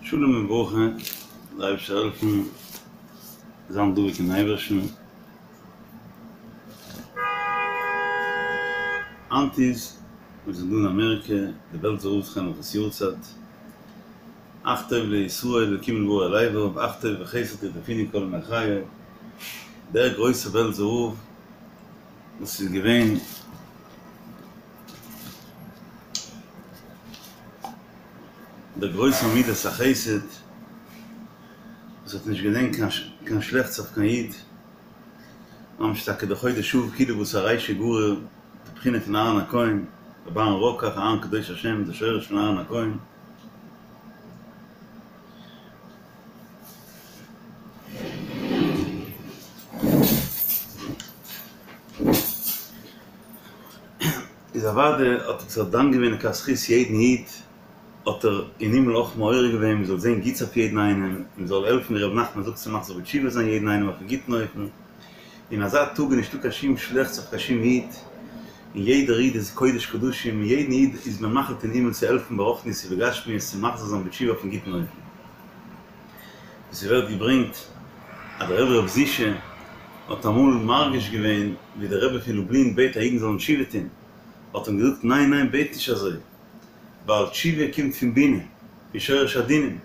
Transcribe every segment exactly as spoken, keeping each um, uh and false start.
שלום וברכה, דער אייבערשטער זאל העלפן זיין דבוק אין אייבערשטן. היינט איז, מיר זענען דא אין אמעריקע, די בעלזער רב זכרונו לברכה'ס יארצייט, אך טוב לישראל אלקים לדברו אל לבב, אך טוב וחסד ירדפוני כל ימי חיי, דער גרויסער בעלזער רב וואס איז געווען דער גרויסער מידת החסד וואס האט נישט געזען קיין שלעכטס אויף קיין איד, ממש טאקע דער חודש אב כולו בתר רישא גריר, די בחינה פון אהרן הכהן, רבי אהרן רוקח, אהרן קדוש השם, דער שורש פון אהרן הכהן. איז אוודאי האט ער זיך דן געווען לכף זכות יעדן איד, האט ער אין הימל אויך מעורר געווען מען זאל זען גוטס אויף יעדן איינעם, מען זאל העלפן ווי ר' נחמן זאגט צו מחזיר בתשובה זיין יעדן איינעם אויפן גוטן אופן, אין אזא טאג איז נישטא קיין שום שלעכטס אויף קיין שום איד, און יעדער איד איז קודש קדשים, און יעדן איד איז מען מחליט אין הימל צו העלפן ברוחניות ובגשמיות צו מחזיר זיין בתשובה אויפן גוטן אופן. ווי ס'ווערט געברענגט אז דער רבי ר' זישע האט אמאל מרגיש געווען ווי דער רבי פון לובלין בעט אז אידן זאלן תשובה טון, האט אים געזאגט ניין ניין בעט נישט אזוי, ווייל תשובה קומט פון בינה, פון שורש הדינים,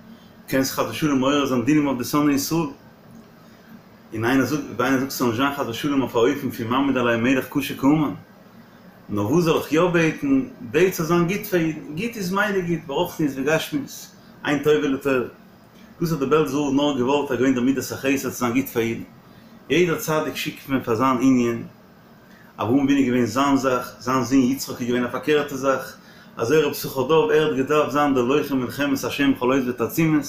קענסט חס ושלום מעורר זיין דינים אויף די שונאי ישראל, און איינער זאגט ווען איינער זאגט ס'זאל נישט זיין חס ושלום אויף א אופן פון מעמיד עליהם מלך קשה כהמן, נאר וואס זאל איך יא בעטן, בעט ס'זאל זיין גוט פאר אידן, גוט איז מילא גוט, ברוחניות וגשמיות, אין טוב אלא טוב. דאס האט דער בעלזער רב נאר געוואלט אז געווען דער מידת החסד צו זיין גוט פאר אידן. יעדער צדיק שיקט מען פאר זיין ענין, אברהם אבינו איז געווען זיין זאך, זיין זון יצחק איז געווען א פארקערטע זאך, אזוי רבי יששכר דוב ער האט געדארפט זיין דער לוחם מלחמת השם בכל עוז ותעצומות,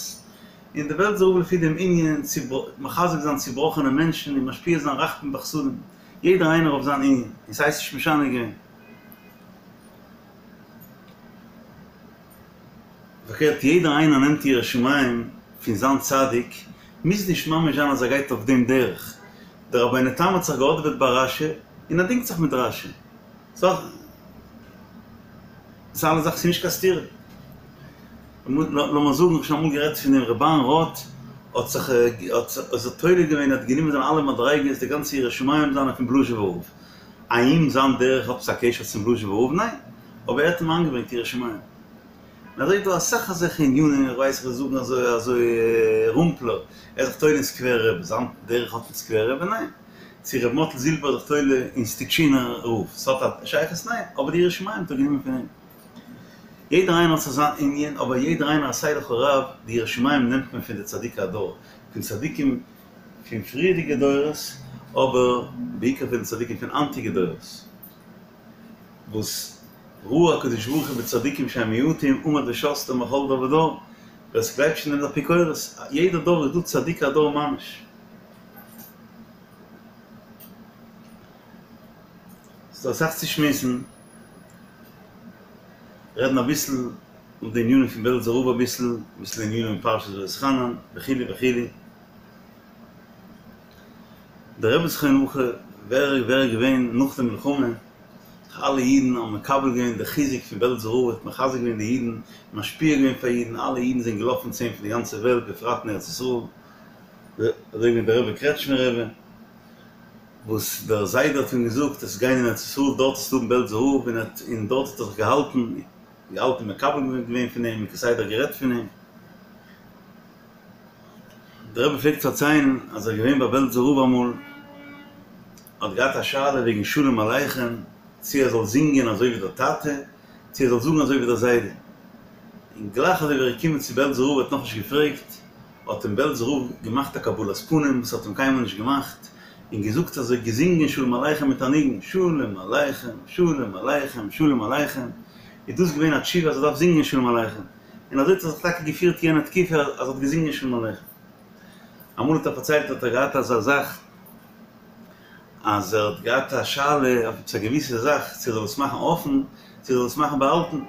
און דער בעלזער רב לפי דעם ענין צו מחזק זיין צובראכענע מענטשן און משפיע זיין רחמים וחסדים, יעדער איינער אויף זיין ענין, און ס'הייסט נישט משנה געווען. פארקערט יעדער איינער נעמט יראת שמים פון זיין צדיק, מוז נישט ממש זיין אז ער גייט אויף דעם דרך, דער רבינו תם האט זיך געהאדעוועט ביי רש"י און ער דינגט זיך מיט רש"י, סא ס'איז אלע זאכן ס'איז נישט קיין סתירה. לאמיר זאגן, איך האב שוין אמאל גערעדט פון דעם ר' אהרן ראטה האט זיך האט זיך תולה געווען האט גענומען זיינע אלע מדריגות די גאנצע יראת שמים זיינע פון בלאזשובער רב, האם זיין דרך האט עפעס א קשר צום בלאזשובער רב? ניין, אבער ער האט אים איינגעברענגט יראת שמים. און אזוי איז דא אסאך אזעלכע ענינים, איך ווייס איך וועל זאגן אזוי אזוי רומפלער, ער איז זיך תולה אין סקווער רבי, זיין דרך האט מיט סקווער רבי? ניין. צו ר' מאטל זילבער איז זיך תולה אין סטיטשינער רב, ס'האט א שייכות? ניין. אבער די יראת שמים האט ער גענומען פון אים. יעדער איינער האט זיך זיין ענין, אבער יעדער איינער עשה לך רב, די יראת שמים נעמט מען פון די צדיקי הדור, פון צדיקים פון פריערדיגע דורות, אבער בעיקר פון די צדיקים פון היינטיגע דורות, וואס ראה הקדוש ברוך הוא בצדיקים שהם מיעוטים, עמד ושסתם בכל דור ודור, ווער ס'גלייבט שוין דעם איז אפיקורס, יעדע דור איז דא צדיקי הדור ממש. ס'דא אסאך צו שמועסן, רעדן אביסל אויף די ענינים פון בעלזער רב אביסל, אביסל ענינים אין פרשת ואתחנן, וכו' וכו'. דער רבי זכרונו לברכה, ווער ווער איז געווען נאך די מלחמה, אלע אידן האבן מקבל געווען די חיזוק פון בעלזער רב, האט מחזק געווען די אידן, משפיע געווען פאר אידן, אלע אידן זענען געלאפן צו אים פון די גאנצע וועלט, בפרט אין ארץ ישראל, אזוי ווי דער רבי קרעטשמער רבי, וואס דער זיידע האט אים געזאגט, עסט גיין אין ארץ ישראל, דארט וועסטו האבן בעלזער רב, און און דארט האט ער זיך געהאלטן, געהאלטן מקבל געווען פון אים, און כסדר גערעדט פון אים. דער רבי פלעגט פארציילן אז ער איז געווען ביי בעלזער רב אמאל, האט געהאט א שאלה וועגן שלום עליכם, צו ער זאל זינגען אזוי ווי דער טאטע, צו ער זאל זאגן אזוי ווי דער זיידע. און גלייך אזוי ווי ער איז געקומען צו בעלזער רב האט נאכנישט געפרעגט, האט אים בעלזער רב געמאכט א קבלת פנים וואס האט אים קיינמאל נישט געמאכט, און געזאגט אזוי געזינגען שלום עליכם מיט א ניגון, שלום עליכם, שלום עליכם, שלום עליכם, איז דאס געווען א תשובה אז ער דארף זינגען שלום עליכם. און אזוי האט ער זיך טאקע געפירט יענע תקופה אז ער האט געזינגען שלום עליכם. אמאל האט ער פארציילט האט ער געהאט אזא זאך אז ער האט געהאט א שאלה אויף עפעס א געוויסע זאך צו ער זאל עס מאכן אפן צו ער זאל עס מאכן באהאלטן,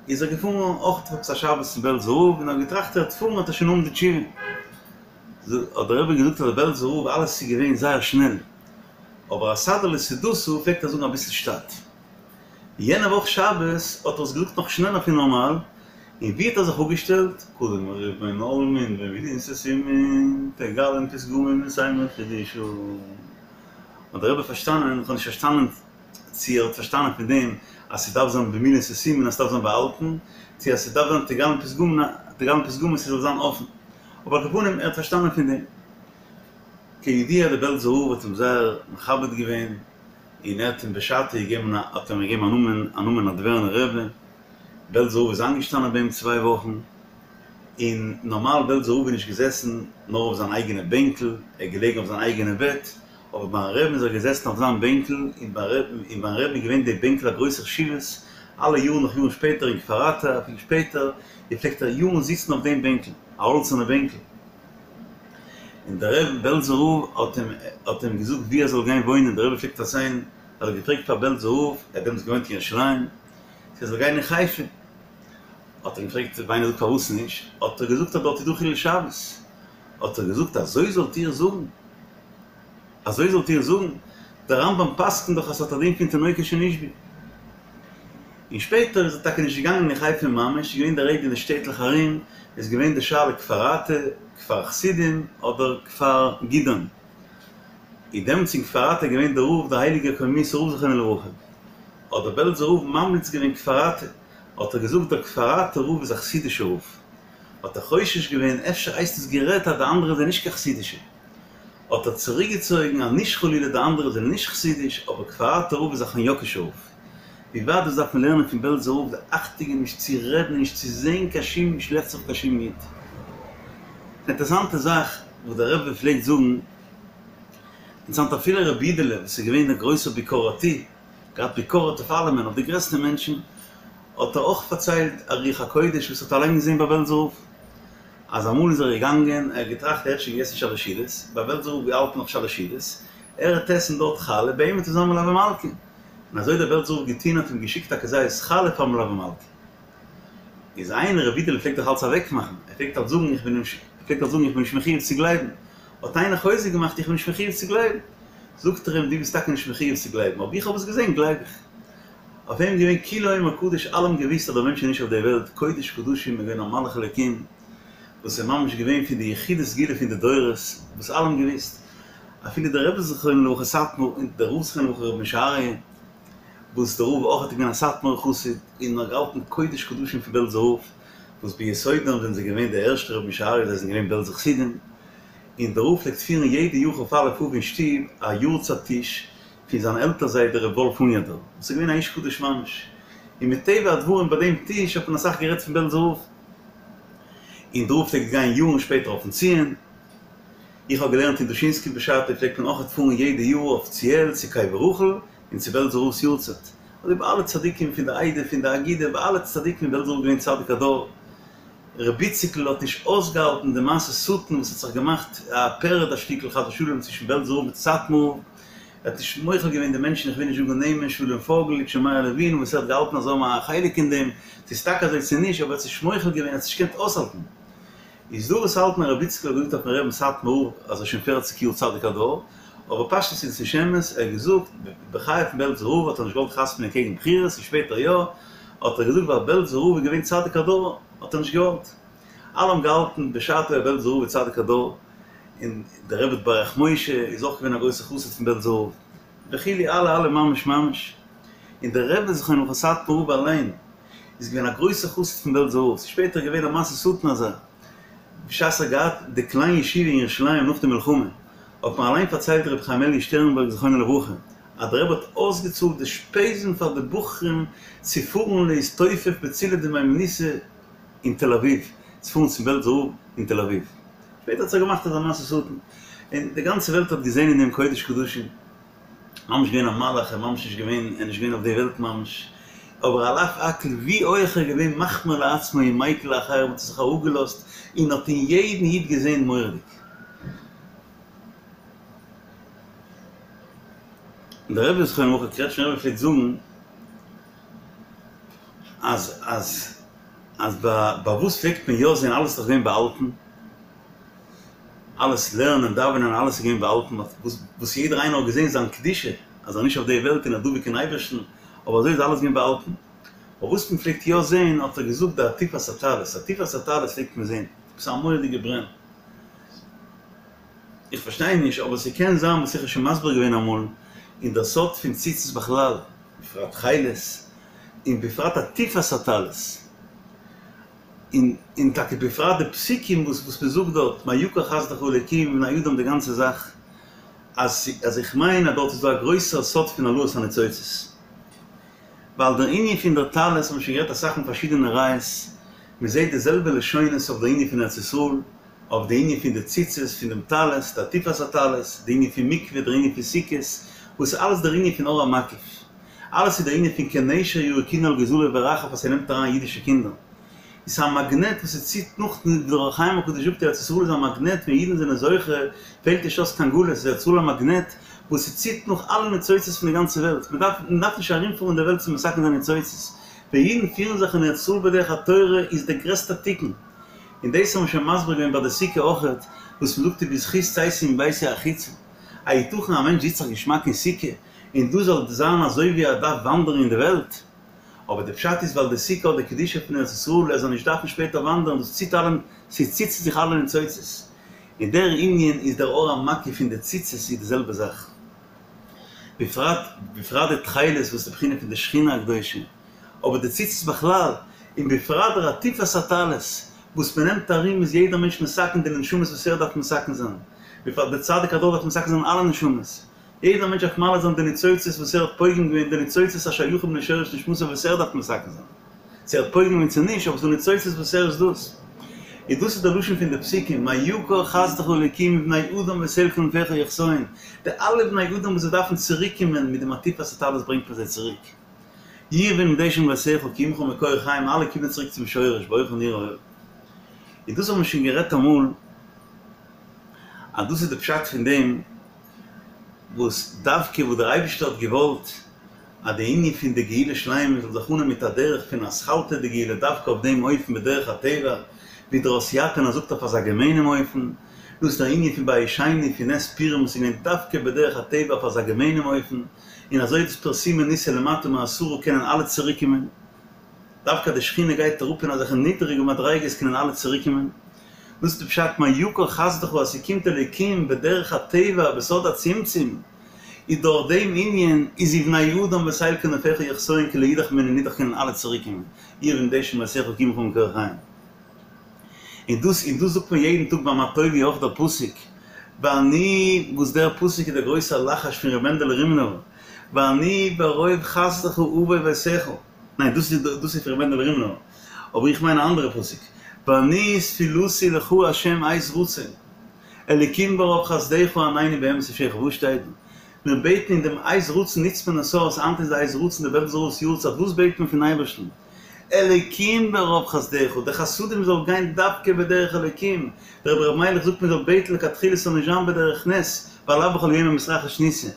איז ער געפארן אויך אויף עפעס א שבת צום בעלזער רב און ער האט געטראכט ער וועט פארן וועט ער שוין האבן די תשובה. האט דער רבי געזאגט אז דער בעלזער רב אלעס איז געווען זייער שנעל אבער אסדר לסעודתא פלעגט ער זאגן אביסל שטאט. יענע וואך שבת האט ער עס געזאגט נאך שנעלער פון נארמאל, און ווי האט ער זיך אפגעשטעלט? קדם ריבון עלמין במילין סתימין תגלם פתגמין מסיימא חידושא. האט דער רבי פארשטאנען, איך האב נישט פארשטאנען צו ער האט פארשטאנען פון דעם אז ס'דארף זיין במילין סתימין אז ס'דארף זיין באהאלטן, צו אז ס'דארף זיין תגלם פתגמין תגלם פתגמין ס'זאל זיין אפן. אבער על כל פנים ער האט פארשטאנען פון דעם. כידוע דער בעלזער רב האט אים זייער מכבד געווען, און ער האט אים בשעתו געגעבן א האט אים געגעבן א נאמען א נאמען נאדווערנער רבי, בעלזער רב איז איינגעשטאנען ביי אים צוויי וואכן, און נארמאל בעלזער רב איז נישט געזעסן נאר אויף זיין אייגענע בענקל, ער איז געלעגן אויף זיין אייגענע בעט, אבער ביים רבי'ן איז ער געזעסן אויף זיין בענקל, און ביים רבי'ן איז געווען די בענקל א גרויסע חשיבות, אלע יארן נאך יארן שפעטער אין כפר אתא, אפילו שפעטער, און פלעגט ער יארן זיצן אויף דעם בענקל, א האלצערנע בענקל. און דער רבי בעלזער רב האט אים האט אים געזאגט וואו ער זאל גיין וואוינען, דער רבי פלעגט פארציילן אז ער האט געפרעגט פאר בעלזער רב, ער האט דעמאלטס געוואוינט אין ירושלים, צו ער זאל גיין אין חיפה, האט ער אים געפרעגט ווי איינער זאגט פארוואס נישט, האט ער געזאגט אז דארט איז דא חילול שבת, האט ער געזאגט אזוי זאלט איר זאגן, אזוי זאלט איר זאגן, דער רמב"ם פסק'נט דאך אז ס'האט א דין פון תינוקות שנשבו. און שפעטער איז ער טאקע נישט געגאנגען אין חיפה ממש, איז געווען די רעדע אין די שטעטלעך ארום, איז געווען די שאלה כפר אתא, כפר חסידים, אדער כפר גדעון. איז דעמאלטס אין כפר אתא געווען דער רב דער הייליגער קוממיות'ער רב זכרונו לברכה, האט דער בעלזער רב ממליץ געווען כפר אתא, האט ער געזאגט דער כפר אתא רב איז א חסידישער רב, האט ער חושש געווען אפשר הייסט עס גערעדט אז די אנדערע זענען נישט קיין חסידישע, האט ער צוריקגעצויגן אז נישט חלילה די אנדערע זענען נישט חסידיש, אבער כפר אתא רב איז א חניאקישער רב. ווי ווייט דאס דארף מען לערנען פון בעלזער רב די אכטונג געבן נישט צו רעדן און נישט צו זען קיין שום שלעכטס אויף קיין שום איד. אינטערסאנטע זאך וואס דער רבי פלעגט זאגן, אינטערסאנט אפילו רבי אידעלע וואס איז געווען דער גרויסער ביקורתי, געהאט ביקורת אויף אלעמען, אויף די גרעסטע מענטשן, האט ער אויך פארציילט א רוח הקודש וואס ער האט אליין געזען ביי בעלזער רב, אז אמאל איז ער געגאנגען, ער האט געטראכט ער האט שוין געגעסן שלש סעודות, ביי בעלזער רב געהאלטן נאך שלש סעודות, ער וועט עסן דארט חלה, ביי אים וועט עס זיין מלוה מלכה. און אזוי האט דער בעלזער רב געטון האט אים געשיקט א כזית חלה פאר מלוה מלכה. איז איינער רבי אידעלע פלעגט דאך אלץ אוועקמאכן, ער פלעגט אלץ זאגן איך בין נישט, ער פלעגט אלץ זאגן איך בין נישט מחויב צו גלייבן, האט איינער חוזק געמאכט איך בין נישט מחויב צו גלייבן, זאגט ער אים דו ביסט טאקע נישט מחויב צו גלייבן אבער איך האב עס געזען גלייב איך. אויף אים געווען כולו אומר קדוש אלע האבן געוויסט אז דער מענטש איז נישט אויף דער וועלט, קודש קדשים איז געווען א מלאך אלוקים וואס איז ממש געווען פון די יחידי סגולה פון די דורות וואס אלע האבן געוויסט אפילו דער רבי זכרונו לברכה סאטמאר און דער רב זכרונו לברכה רבי משה אריה וואס דער רב אויך האט געווען א סאטמארער חסיד און האט געהאלטן קודש קדשים פון בעלזער רב וואס ביסודם זענען זיי געווען די ערשטע רבי משה אריה זיי זענען געווען בעלזער חסידים און דער רב פלעגט פירן יעדע יאר כ"א אב אין שטוב א יארצייט טיש פון זיין עלטער זיידע ר' וואלף הוניאדער וואס איז געווען א איש קדוש ממש, און מטבע הדברים ביי דעם טיש האט מען אסאך גערעדט פון בעלזער רב, און דער רב פלעגט גיין יארן שפעטער אויפן ציון, איך האב געלערנט אין דושינסקי בשעתו פלעגט מען אויכעט פארן יעדע יאר אפיציעל צו קבר רחל און צו בעלזער רב'ס יארצייט, אזוי ביי אלע צדיקים פון די עדה פון די אגודה ביי אלע צדיקים איז בעלזער רב געווען צדיק הדור. ר' איציקל האט נישט אויסגעהאלטן די מעשה שטן וואס האט זיך געמאכט א פערעד א שטיקל חס ושלום צווישן בעלזער רב מיט סאטמאר, ער האט נישט מוחל געווען די מענטשן איך וויל נישט זאגן נעמען שלום פויגל איטשע מאיר לעווין וואס ער האט געהאלטן אז זיי האבן א חלק אין דעם, צו ס'איז טאקע אזוי צו נישט אבער ער האט נישט מוחל געווען ער האט עס נישט געקענט אויסהאלטן. איז דא וואס האלטן אז ר' איציקל האט געזאגט אויפן רבי'ן סאטמאר רב אז ער איז שוין פערציג יאר צדיק הדור, אבער פשטות איז עס נישט אמת, ער האט געזאגט בחייו פון בעלזער רב האט ער נישט געוואלט חתמ'נען קעגן בחירות און שפעטער יא, האט ער געזאגט ווייל בעלזער רב איז געווען צדיק הדור האט ער נישט געוואלט. אלע האבן געהאלטן בשעתו אז בעלזער רב איז צדיק הדור, און דער רבי ברך משה איז אויך געווען א גרויסער חסיד פון בעלזער רב, וכו' אלע אלע ממש ממש, און דער רבי זכרונו לברכה סאטמאר רב אליין איז געווען א גרויסער חסיד פון בעלזער רב, ס'איז שפעטער געווען א מעשה שטן אזא, בשעת ער האט געהאט די קליין ישיבה אין ירושלים נאך די מלחמה, האט מיר אליין פארציילט רבי חיים אלי' שטערנבערג זכרונו לברכה, אז דער רבי האט אויסגעצאלט די שפעזן פאר די בחורים צו פארן להסתופף בצילא דמהימנותא אין תל אביב, צו פארן צום בעלזער רב אין תל אביב. שפעטער האט זיך געמאכט אזא מעשה שטן, און די גאנצע וועלט האט געזען אין דעם קודש קדשים, ממש געווען א מלאך, ער ממש נישט געווען, ער איז נישט געווען אויף די וועלט ממש, אבער על אף הכל ווי הויך ער איז געווען מחמיר לעצמו און מיקל לאחרים האט ער זיך אראפגעלאזט און האט אין יעדן איד געזען מורא'דיג. דער רבי זכרונו לברכה קרעטשניפער רבי פלעגט זאגן אז אז אז ביי ביי וואס פלעגט מען יא זען אלעס איז דאך געווען באהאלטן, אלעס לערנען דאווענען אלעס איז געווען באהאלטן וואס וואס יעדער איינער האט געזען זיין קדושה אז ער איז נישט אויף די וועלט און ער דבוק אין אייבערשטן, אבער אזוי איז אלעס געווען באהאלטן, אבער וואס מען פלעגט יא זעהן האט ער געזאגט די עטיפת הטלית, עטיפת הטלית פלעגט מען זעהן, עפעס א מורא'דיגע ברען. איך פארשטיי נישט, אבער ס'קען זיין וואס איך האב שוין מסביר געווען אמאל, אין דער סוד פון ציצית בכלל, בפרט תכלת, און בפרט עטיפת הטלית, און און טאקע בפרט די פסוקים וואס וואס מ'זאגט דארט, מה יקר חסדך אלוקים ובני אדם די גאנצע זאך, אז אז איך מיין אז דארט איז דא א גרויסער סוד פון העלאת הניצוצות. ווייל דער ענין פון דער טלית האבן מיר שוין גערעדט אסאך אין פארשידענע ראיות, מ'זעט די זעלבע לשונות אויף דער ענין פון ארץ ישראל, אויף די ענין פון די ציצית, פון דעם טלית, די עטיפת הטלית, די ענין פון מקווה, דער ענין פון סוכות, וואס איז אלעס דער ענין פון אור המקיף. אלעס איז דער ענין פון כנשר ירקוני על גוזליו ברחף אז ס'נעמט אריין אידישע קינדער. איז א מאגנעט וואס ס'ציט נאך, ווי דער אור החיים הקדוש זאגט ארץ ישראל איז א מאגנעט ווען אידן זענען זוכה פעלט נישט אויס קיין גלות איז ארץ ישראל א מאגנעט וואס ס'ציט נאך אלע ניצוצות פון די גאנצע וועלט, מ'דארף מ'דארף נישט ארומפארן אין די וועלט צו מתקן זיין ניצוצות, ווען אידן פירן זיך אין ארץ ישראל בדרך התורה איז דער גרעסטער תיקון. און דאס האבן מיר שוין מסביר געווען ביי די סוכה אויכעט, וואס מ'זאגט ובזכות צאתי מביתי החוצה. היתכן א מענטש זיצט זיך געשמאק אין סוכה, און דא זאל זיין אזוי ווי ער דארף וואנדערן אין די וועלט? אבער די פשט איז ווייל די סוכה האט די קדושה פון ארץ ישראל, ער זאל נישט דארפן שפעטער וואנדערן, דאס ציט אלע, ס'ציט צו זיך אלע ניצוצות. און דער ענין איז דער אור המקיף פון די ציצית איז די זעלבע זאך. בפרט בפרט די תכלת וואס איז די בחינה פון די שכינה הקדושה. אבער די ציצית בכלל, און בפרט דער עטיפת הטלית, וואס מען נעמט ארום איז יעדער מענטש מתקן די נשמות וואס ער דארף מתקן זיין, בפרט דער צדיק הדור דארף מתקן זיין אלע נשמות, יעדער מענטש דארף מעלה זיין די ניצוצות וואס ער האט פוגם געווען, די ניצוצות השייכים לשורש נשמתו וואס ער דארף מתקן זיין, צו ער האט פוגם געווען צו נישט, אבער ס'דא ניצוצות וואס ער איז דאס. און דאס איז דער לשון פון די פסוקים, מה יקר חסדך אלוקים ובני אדם בתל כנפיך יחסיון, די אלע בני אדם וואס זיי דארפן צוריק קומען מיט דעם עטיפת הטלית ברענגט מען זיי צוריק. יראו ונדשם ביתך כי עמך מקור חיים אלע קומען צוריק צום שורש באורך נראה אור. און דאס האבן מיר שוין גערעדט אמאל אז דאס איז די פשט פון דעם וואס דווקא וואס דער אייבערשטער האט געוואלט אז די ענין פון די גאולה שלימה זאל זיך אנהייבן מיט א דרך פון אתחלתא דגאולה דווקא אויף דעם אופן בדרך הטבע ווי דער הוסיאטינער זאגט אויף אזא געמיינעם אופן דאס איז דער ענין פון בית שני פון נס פורים וואס איז געווען דווקא בדרך הטבע אויף אזא געמיינעם אופן און אזוי איז דאס פרסומי ניסא למטה מעשרה קענען אלע צוריקקומען, דווקא די שכינה גייט אראפ אין אזעלכע נידעריגע מדריגות קענען אלע צוריקקומען, דאס איז די פשט מה יקר חסדך אז ס'קומט אלוקים בדרך הטבע בסוד הצמצום, איז דורך דעם ענין איז ובני אדם בתל כנפיך יחסיון כי לא ידח ממנו נדח קענען אלע צוריקקומען, יראו ונדשם ביתך כי עמך מקור חיים. און דאס און דאס זאגט מען יעדן טאג ביי מה טובו אויך דער פסוק ואני וואס דער פסוק איז דער גרויסער לחש פון ר' מענדעלע רימנובער ואני ברוב חסדך אבוא ביתך ניין דאס איז דאס איז פון ר' מענדעלע רימנובער אבער איך מיין א אנדערע פסוק ואני תפילתי לך ה' עת רצון אלקים ברוב חסדך ענני באמת ישעך וואס שטייט דא? מיר בעטן אין דעם עת רצון נוצט מען עס אויס היינט איז די עת רצון די בעלזער רב'ס יארצייט וואס בעט מען פון אייבערשטן? אלוקים ברוב חסדך, די חסדים זאל גיין דווקא בדרך אלוקים, דער רבי ר' מיילעך זאגט מען זאל בעטן לכתחילה ס'זאל נישט זיין בדרך נס, ווייל לאו בכל יומא מתרחיש ניסא,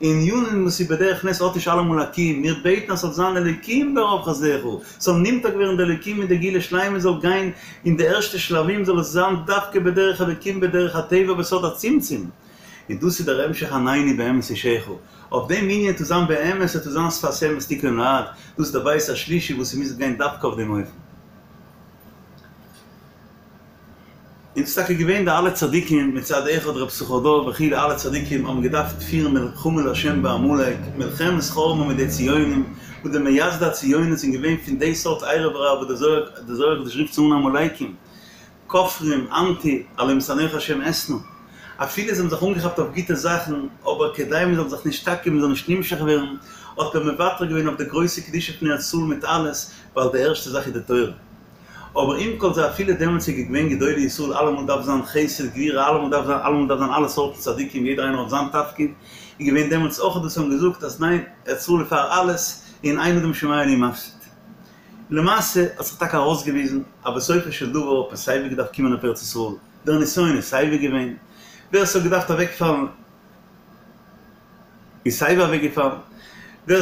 ענינים וואס איז בדרך נס האט נישט אלעמאל א קיום, מיר בעטן אז ס'זאל זיין אלוקים ברוב חסדך, ס'זאל נמתק ווערן די אלוקים און די גאולה שלימה זאל גיין אין די ערשטע שלבים זאל עס זיין דווקא בדרך אלוקים בדרך הטבע בסוד הצמצום. און דאס איז דער המשך ענני באמת ישעך, אויף דעם ענין צו זיין באמת און צו זיין שפת אמת תכון לעד, דאס איז דער בית השלישי וואס ס'מוז גיין דווקא אויף דעם אופן. און ס'איז טאקע געווען די אלע צדיקים מצד אחד ר' יששכר דוב וכו' אלע צדיקים האבן געדארפט פירן מלחמה לה' בעמלק, מלחמת חרמה מיט די ציונים, וואס די מייסדי הציונות זענען געווען פון די סארט ערב רב וואס דער זוהר הקדוש רופט זיי אן עמלקים, כופרים, אנטי, הלא משנאיך השם אשנא. אפילו זיי האבן זיך אנגעכאפט אויף גוטע זאכן, אבער כדי מען זאל זיך נישט נשתכח, מען זאל נישט נמשך ווערן, האט מען מוותר געווען אויף די גרויסע קדושה פון ארץ ישראל מיט אלעס, ווייל די ערשטע זאך איז די תורה. אבער עם כל זה אפילו דעמאלטס איז געווען גדולי ישראל, אלעמאל דארף זיין חסד, גבורה, אלעמאל דארף זיין, אלעמאל דארף זיין אלע סארטן צדיקים, יעדער איינער האט זיין תפקיד, איז געווען דעמאלטס אויך וואס האבן געזאגט אז ניין, ארץ ישראל איז פאר אלעס, און אין אדם שומע לי מפסיד. למעשה האט זיך טאקע ארויסגעוויזן אז בסופו של דבר האט מען סייווי געדארפט קומען אויף ארץ ישראל, דער נסיון איז סייווי געווען, ווער ס'האט געדארפט אוועקפאלן איז סייווי אוועקגעפאלן, ווער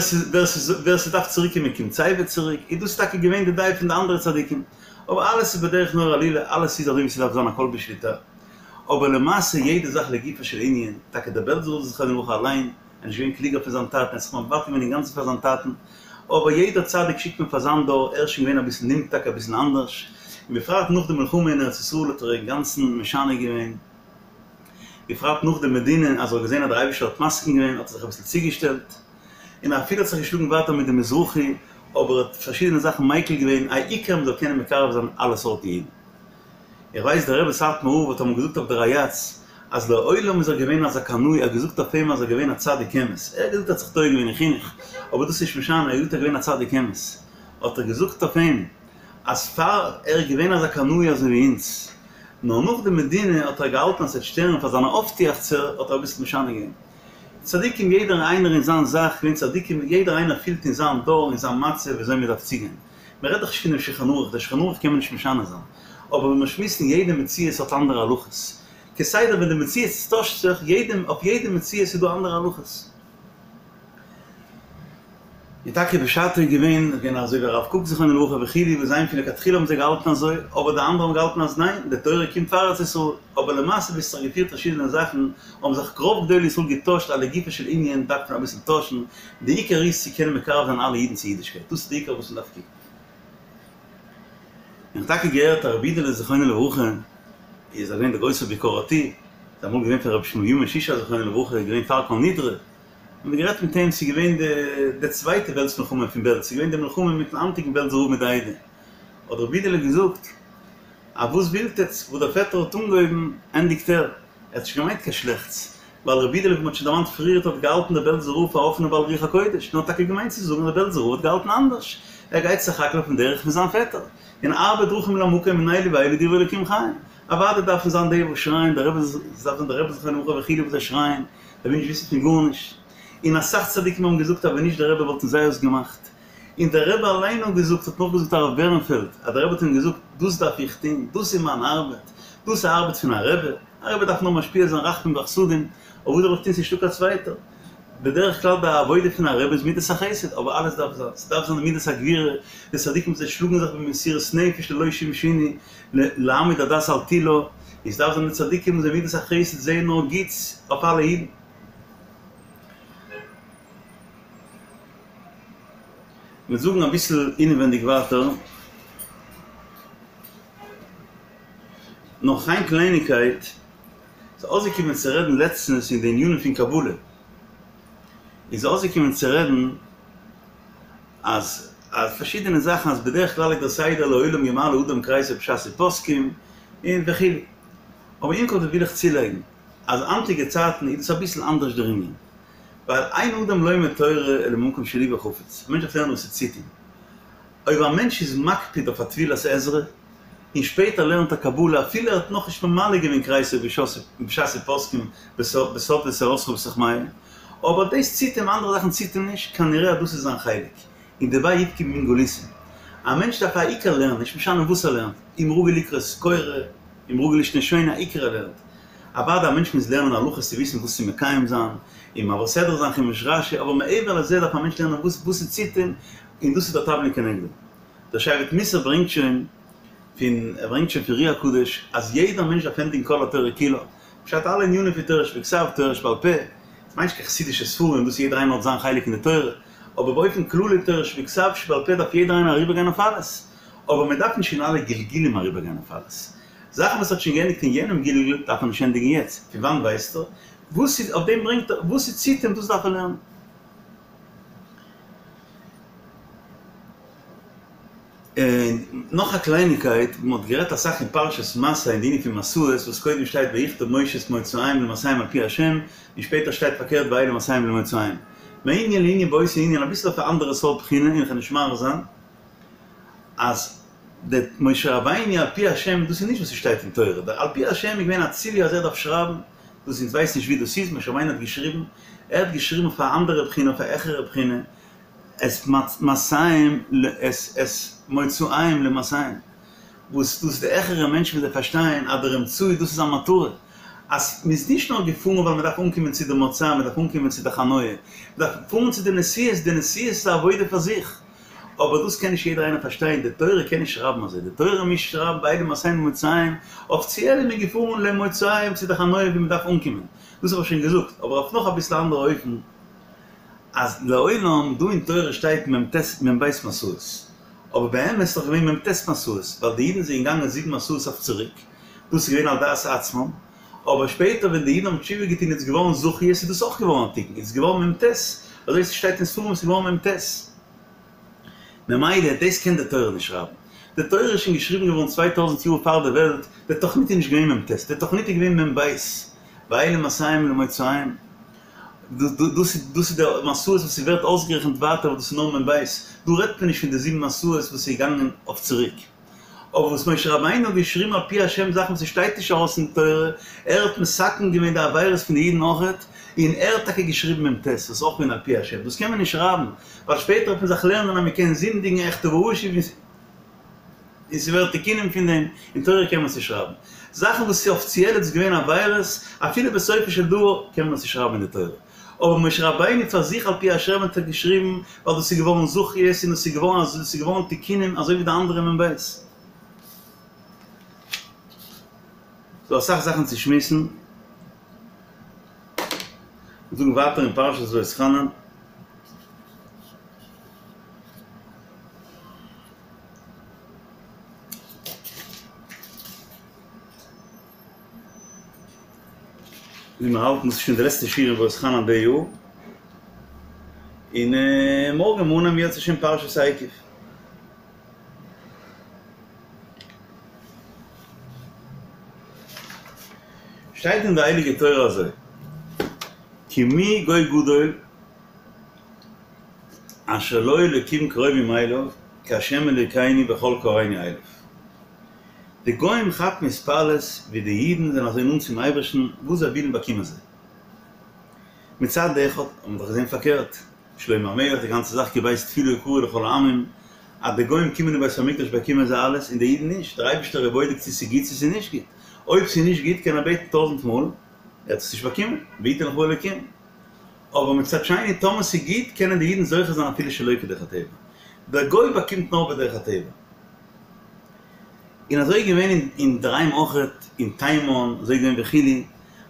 ווער ס'דארף צוריקקומען קומט סייווי צוריק, איז דאס טאקע געווען די דעה פון די אנדערע צדיקים, אבער אלעס איז בדרך נורא עלילה, אלעס איז אזוי ווי ס'דארף זיין הכל בשליטה, אבער למעשה יעדע זאך לגופו של ענין, טאקע דער בעלזער רב זכרונו לברכה אליין, ער איז נישט געווען קלוגער פון זיין טאטן, ער האט זיך מוותר געווען אינגאנצן פאר זיין טאטן, אבער יעדער צדיק שיקט מען פאר זיין דור, ער איז שוין געווען אביסל נמתק אביסל אנדערש, און בפרט נאך די מלחמה אין ארץ ישראל האט ער אינגאנצן משנה געווען, בפרט נאך די מדינה אז ער האט געזען אז דער אייבישטער האט מסכים געווען האט ער זיך אביסל צוגעשטעלט, און אפילו האט זיך געשלאגן ווייטער מיט די מזרחי, אבער האט פארשידענע זאכן מיקל געווען, העיקר מען זאל קענען מקרב זיין אלע סארטן אידן. איך ווייס דער רבי סאטמאר רב האט אמאל געזאגט אויף די ריי"צ אז לעולם איז ער געווען אזא קנאי, ער האט געזאגט אויף אים אז ער געווען א צדיק אמת, ער האט געזאגט ער האט זיך טועה געווען אין חינוך, אבער דאס איז נישט משנה, ער האט געזאגט ער געווען א צדיק אמת, האט ער געזאגט אויף אים אז פאר ער איז געווען אזא קנאי אזוי ווי אונז, נאר נאך די מדינה האט ער געהאלטן אז ס'וועט שטערן פאר זיינע אויפטועכצער האט ער אביסל משנה געווען. צדיקים יעדער איינער אין זיין זאך געווען צדיקים יעדער איינער פילט אין זיין דור אין זיין מצב וויאזוי מען דארף צוגיין. מען רעדט דאך נישט פונעם שולחן ערוך, דער שולחן ערוך קען מען נישט משנה זיין, אבער ווען מיר שמועסן יעדע מציאות האט אנדערע הלכות, כסדר ווען די מציאות טוישט זיך, יעדע אויף יעדע מציאות איז דא אנדערע הלכות. און טאקע בשעתו איז געווען געווען אזוי ווי הרב קוק זכרונו לברכה וכו' וואס זיי פון לכתחילה האבן זיי געהאלטן אזוי, אבער די אנדערע האבן געהאלטן אז ניין, די תורה קומט פאר ארץ ישראל, אבער למעשה ווי עס האט זיך געפירט פארשידענע זאכן, האבן זיך רוב גדולי ישראל געטוישט א לגופו של ענין דארף מען אביסל טוישן, די עיקר איז צו קענען מקרב זיין אלע אידן צו אידישקייט, דאס איז די עיקר וואס מען דארף קוקן. איך האב טאקע געהערט אז רבי אידעלע זכרונו לברכה איז געווען דער גרויסער ביקורתי, איז אמאל געווען פון רבי שמואל בנימין שישא זכרונו לברכה איז געווען פאר כל נדרי, האט מען גערעדט מיט אים, ס'איז געווען די די צווייטע וועלטס מלחמה פון בעלז, ס'איז געווען די מלחמה מיטן היינטיגן בעלזער רב מיט די עדה, האט רבי אידעלע געזאגט, א וואס ווילט עטץ, וואס דער פעטער האט אנגעהויבן ענדיגט ער, ער האט נישט געמיינט קיין שלעכטס, ווייל רבי אידעלע ווי מ'האט שוין דערמאנט פריערט האט געהאלטן דער בעלזער רב פאר אפענע בעל רוח הקודש, נאר האט טאקע געמיינט צו זאגן אז דער בעלזער רב האט געהאלטן אנדערש, ער גייט סך הכל אויפן דרך פון זיין פעטער, און הרבה דרכים למקום און אלו ואלו דברי אלוקים חיים, אוודאי דארפן זיין די וואס שרייען דער רבי דארף זיין דער רבי זכרונו לברכה וכו' וואס זיי שרייען, זיי ווילן נישט וויסן פון גארנישט, און אסאך צדיקים האבן געזאגט אז ווען נישט דער רבי וואלטן זיי עס געמאכט, און דער רבי אליין האט געזאגט, האט נאכגעזאגט הרב בערנפעלד, אז דער רבי האט אים געזאגט, דאס דארף איך טון, דאס איז מיין ארבעט, דאס איז א ארבעט פון א רבי, א רבי דארף נאר משפיע זיין רחמים וחסדים, אבער וואס זאל איך טון ס'איז נישטא קיין צווייטער. בדרך כלל די עבודה פון א רבי איז מידת החסד, אבער אלעס דארף זיין, ס'דארף זיין די מידת הגבורה, די צדיקים זיי שלאגן זיך במסירות נפש ללא שום שינוי, להעמיד הדת על תילה, עס דארף זיין די צדיקים וואס די מידת החסד זעען נאר גוטס אויף אלע אידן. מ'וועט זאגן אביסל אינעווענדיג ווייטער. נאך איין קלייניגקייט, ס'איז אויסגעקומען צו רעדן לעצטנס אין די ענינים פון קבלה, איז אויסגעקומען צו רעדן אז אז פארשידענע זאכן אז בדרך כלל איז דער סדר לעולם ימלא אדם כריסו בשעת ופוסקים און וכו', אבער עם כל זה וויל איך צולייגן אז היינטיגע צייטן איז דאס אביסל אנדערש דער ענין, ווייל אין אדם לומד תורה אלא ממקום שליבו חפץ, א מענטש דארף לערנען וואס ס'ציט אים, אויב א מענטש איז מקפיד אויף א טבילת עזרא, און שפעטער לערנט ער קבלה אפילו ער האט נאכנישט ממלא געווען כריסו בשעת ופוסקים בסוד ותורתך בתוך מעי, אבער דאס ציט אים, אנדערע זאכן ציט אים נישט, כנראה אז דאס איז זיין חלק, און דערביי יבכה מין גלותא. א מענטש דארף א עיקר לערנען, נישט משנה וואס ער לערנט, אם רגיל לקרות קורא, אם רגיל לשנה שונה, א עיקר ער לערנט. אוודאי א מענטש מוז לערנען הלכות צו וויסן וואס צו מקיים זיין, און מעביר סדרה זיין חומש רשי, אבער מעבר לזה דארף א מענטש לערנען וואס וואס ס'ציט אים, און דאס איז דער תבלין כנגדו. דער שבט מוסר ברענגט שוין פון, ער ברענגט שוין פון אר"י הקדוש, אז יעדער מענטש דארף ענדיגן כל התורה כולה, פשט אלע ענינים פון תורה שבכתב, תורה שבעל פה, עס מיינט נישט קיין חסידישע ספרים, דאס יעדער איינער האט זיין חלק אין די תורה, אבער באופן כללי תורה שבכתב שבעל פה דארף יעדער איינער אריבערגיין אויף אלעס, אבער מען דארף נישט אין אלע גלגולים אריבערגיין אויף אלעס. זאכן וואס האט שוין געענדיגט אין יענעם גלגול דארף מען נישט ענדיגן יעצט, פון וואנט ווייסטו? וואס איז, אויף דעם ברענגט ער, וואס ס'ציט אים דאס דארף ער לערנען. און נאך א קלייניקייט, מען האט גערעדט אסאך אין פרשת מסעי אין די ענין פון מסעות, וואס קודם שטייט ויכתוב משה את מוצאיהם למסעיהם על פי השם, און שפעטער שטייט פארקערט ואלה מסעיהם למוצאיהם. מענין לענין באותו ענין אביסל אויף א אנדערע סארט בחינה, און איך וועל נישט מאריך זיין, אז די משה רבינו על פי השם, דאס איז נישט וואס ס'שטייט אין תורה, דער על פי השם איז געווען א ציווי אז ער דארף שרייבן, דאס אונז ווייסן נישט ווי דאס איז, משה רבינו האט געשריבן, ער האט געשריבן אויף א אנדערע בחינה, אויף א העכערע בחינה, את מסעיהם את את מוצאיהם למסעיהם, וואס דאס די העכערע מענטשן וואס זיי פארשטייען אז דער אמצעי דאס איז א מטרה, אז מ'איז נישט נאר געפארן ווייל מ'דארף אנקומען צו די מוצא, מ'דארף אנקומען צו די חניה, מ'דארף פארן צו די נסיעות, די נסיעות איז א עבודה פאר זיך, אבער דאס קען נישט יעדער איינער פארשטיין, די תורה קען נישט שרייבן אזוי, די תורה מוז שרייבן ואלה מסעיהם למוצאיהם, אפיציעל איז מען געפארן למוצאיהם צו די חניה ווי מ'דארף אנקומען, דאס האב איך שוין געזאגט, אבער אויף נאך אביסל אנדערע אופן, אז לעולם דא אין תורה שטייט מ ט מ ב מסעות, אבער באמת איז דאך געווען מ ט מסעות, ווייל די אידן זענען געגאנגען זיבן מסעות אויף צוריק, דאס איז געווען על דעת עצמם, אבער שפעטער ווען די אידן האבן תשובה געטון איז געווארן זכיות איז דאס אויך געווארן א תיקון, איז געווארן מ ט, אזוי ס'שטייט אין ספרים ס'איז געווארן מ ט. ממילא דאס קען די תורה נישט שרייבן. די תורה איז שוין געשריבן געווארן צוויי טויזנט יאר פאר די וועלט, די תוכנית איז נישט געווען מ ט, די תוכנית איז געווען מ ב, ואלה מסעיהם למוצאיהם. דאס איז די מסעות וואס ס'ווערט אויסגערעכנט ווייטער וואס דאס איז נאר מ ב, דא רעדט מען נישט פון די זיבן מסעות וואס איז געגאנגען אויף צוריק. אבער וואס משה רבינו האט געשריבן על פי השם זאכן וואס ס'שטייט נישט ארויס אין תורה, ער האט מתקן געווען די עבירות פון די אידן אויכעט, און ער האט טאקע געשריבן מ ט, וואס איז אויך געווען על פי השם, דאס קען מען נישט שרייבן, ווייל שפעטער וועט מען זיך לערנען אז מ'קען זינדיגן אחטא ואשוב און ס'ווערט תיקונים פון דעם, אין תורה קען מען עס נישט שרייבן. זאכן וואס איז אפיציעל איז געווען עבירות, אפילו בסופו של דבר קען מען עס נישט שרייבן אין די תורה. אבער משה רבינו פאר זיך על פי השם האט ער געשריבן ווייל דאס איז געווארן זכיות און דאס איז געווארן אזוי דאס איז געווארן תיקונים אזוי ווי די אנדערע מ ב. ס'דא אסאך זאכן צו שמועסן. מיר זאגן ווייטער אין פרשת ואתחנן. ווי מיר האלטן, ס'איז שוין די לעצטע שיעור אין ואתחנן די יאר, און מארגן מאנען מיר יעצט שוין פרשת עקב. שטייט אין די הייליגע תורה אזוי, כי מי גוי גדול אשר לו אלוקים קרובים אליו כהשם אלוקינו בכל קראנו אליו. די גוים כאפן התפעלות ווי די אידן זענען אזוי נאנט צום אייבערשטן, וואס זיי ווילן באקומען זיי. מצד אחד האט מען דאך געזען פארקערט, שלמה המלך די גאנצע זאך כי בית תפילה יקרא לכל העמים, אז די גוים קומען אין בית המקדש באקומען זיי אלעס און די אידן נישט, דער אייבערשטער איז בודק צו ס'איז גוט צו ס'איז נישט גוט, אויב ס'איז נישט גוט קען ער בעטן טויזנט מאל, ער וועט עס נישט באקומען, ויתן לך האלוקים. אבער מצד שני טאמער ס'איז גוט קענען די אידן זוכה זיין אפילו שלא כדרך הטבע, דער גוי באקומט נאר בדרך הטבע. און אזוי איז געווען אינדערהיים אויכעט, אין תימן, אזוי איז געווען וכו',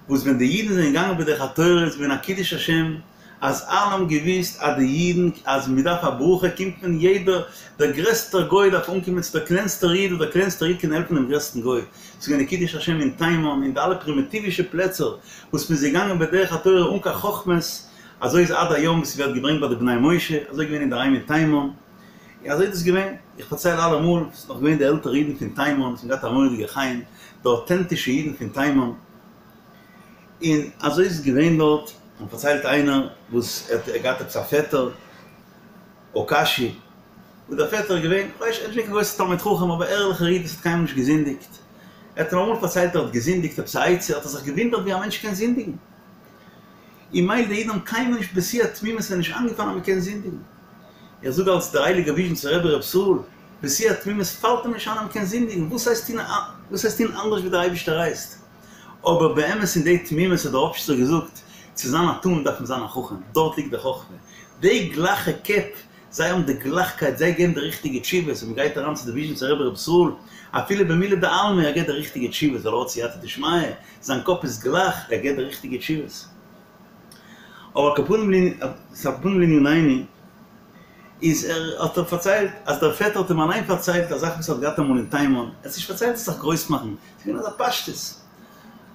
וואס ווען די אידן זענען געגאנגען בדרך התורה איז געווען א קידוש השם, אז אלע האבן געוואוסט אז די אידן, אז מען דארף א ברכה קומט מען יעדער, דער גרעסטער גוי דארף אנקומען צו דער קלענסטער איד, און דער קלענסטער איד קען העלפן דעם גרעסטן גוי. ס'איז געווען א קידוש השם אין תימן, אין די אלע פרימיטיווישע פלעצער, וואס מען איז געגאנגען בדרך התורה אן קיין חכמות, אזוי איז עד היום ווי ס'ווערט געברענגט ביי די בני משה, אזוי איז געווען אינדערהיים אין תימן. און אזוי איז דאס געווען, איך פארצייל אלעמאל, ס'איז נאך געווען די עלטערע אידן פון תימן, וואס האבן געהאט א מורא'דיגע חן, די אויטענטישע אידן פון תימן, און אזוי איז עס געווען דארט, און פארציילט איינער וואס ער האט געהאט עפעס א פעטער, אוקאשי, וואס דער פעטער איז געווען, כ'ווייס נישט, ער איז נישט געווען קיין גרויסער תלמיד חכם, אבער ערליכער איד וואס האט קיינמאל נישט געזינדיגט, ער האט אים אמאל פארציילט ער האט געזינדיגט עפעס א עצה, האט ער זיך געוואונדערט ווי א מענטש קען זינדיגן, און מילא די אידן האבן קיינמאל נישט בשיא התמימות איז נישט איינגעפאלן אז מ'קען זינדיגן. איך זאג אלס דער הייליגער וויזשניצער רבי ר' ישראל, בשיא התמימות פאלט אים נישט איין אז מ'קען זינדיגן, וואס הייסט טון וואס הייסט טון אנדערש ווי דער אייבערשטער הייסט? אבער באמת אין די תמימות האט דער ראפשיצער געזאגט, צו זיין א תם דארף מען זיין א חכם, דארט ליגט די חכמה. די גלייכע קעפ, זיי האבן די גלייכקייט, זיי געבן די ריכטיגע תשובות, ווען מ'גייט אריין צו די וויזשניצער רבי ר' ישראל, אפילו במילי דעלמא, ער געבט די ריכטיגע תשובות, ווייל ער האט סייעתא דשמיא, זיין קאפ איז גלייך, ער געבט די ריכטיגע תשובות. אבער על כל פנים לענינינו, איז ער האט ער פארציילט אז דער פעטער האט אים אליין פארציילט א זאך וואס ער האט געהאט אמאל אין תימן, ער האט עס נישט פארציילט צו זיך גרויס מאכן, ס'איז געווען אזא פשטות,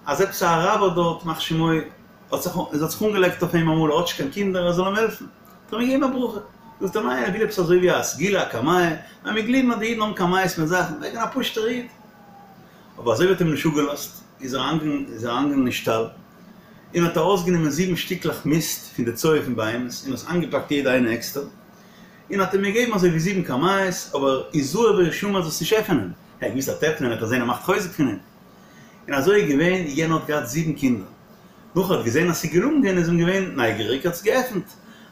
אז עפעס א אראבער דארט ימח שמו האט זיך האט זיך אנגעלייגט אויף אים אמאל ער האט נישט קיין קינדער ער זאל אים העלפן, האט ער אים געגעבן א ברכה, זאגט ער ניין ער וויל עפעס אזוי ווי א סגולה א קמיע, מען גלייבן אז די אידן האבן קמיעות מיט זאכן, ער איז געווען א פשוטער איד. אבער אזוי ווי האט אים נישט אפגעלאזט, איז ער אריינגעגאנגען אין שטאל, און האט ארויסגענומען זיבן שטיקלעך מיסט פון די צואה פון בהמות, און עס איינגעפאקט יעדע איינע עקסטער, און האט אים געגעבן אזוי ווי זיבן קמיעות, אבער הזהר והשמר זאלסט נישט עפענען, ער האט געוואוסט אז עפענען וועט ער זען ער מאכט חוזק פון אים. און אזוי איז געווען, יענער האט געהאט זיבן קינדער, נאך ער האט געזען אז ס'איז געלונגען, איז אים געווען נייגעריג, האט עס געעפנט,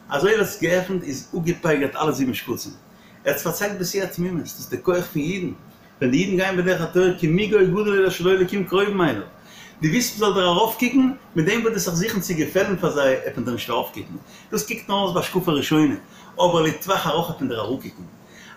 אזוי ווי ער האט עס געעפנט איז אפגעפייגערט אלע זיבן שקצים, ער האט עס פארציילט בשיא התמימות, דאס איז די כח פון אידן, ווען די אידן גייען בדרך התורה כי מי גוי גדול אשר לו אלקים קרובים אליו, דו ווילסט מ'זאל דיר ארויפקוקן, מיט דעם וואס דו וועסט זיך זוכן צו געפעלן פאר זיי עט מען דיר נישט ארויפקוקן, דאס קוקט נאר אויס בהשקפה ראשונה, אבער לטווח ארוך עט מען דיר אראפקוקן.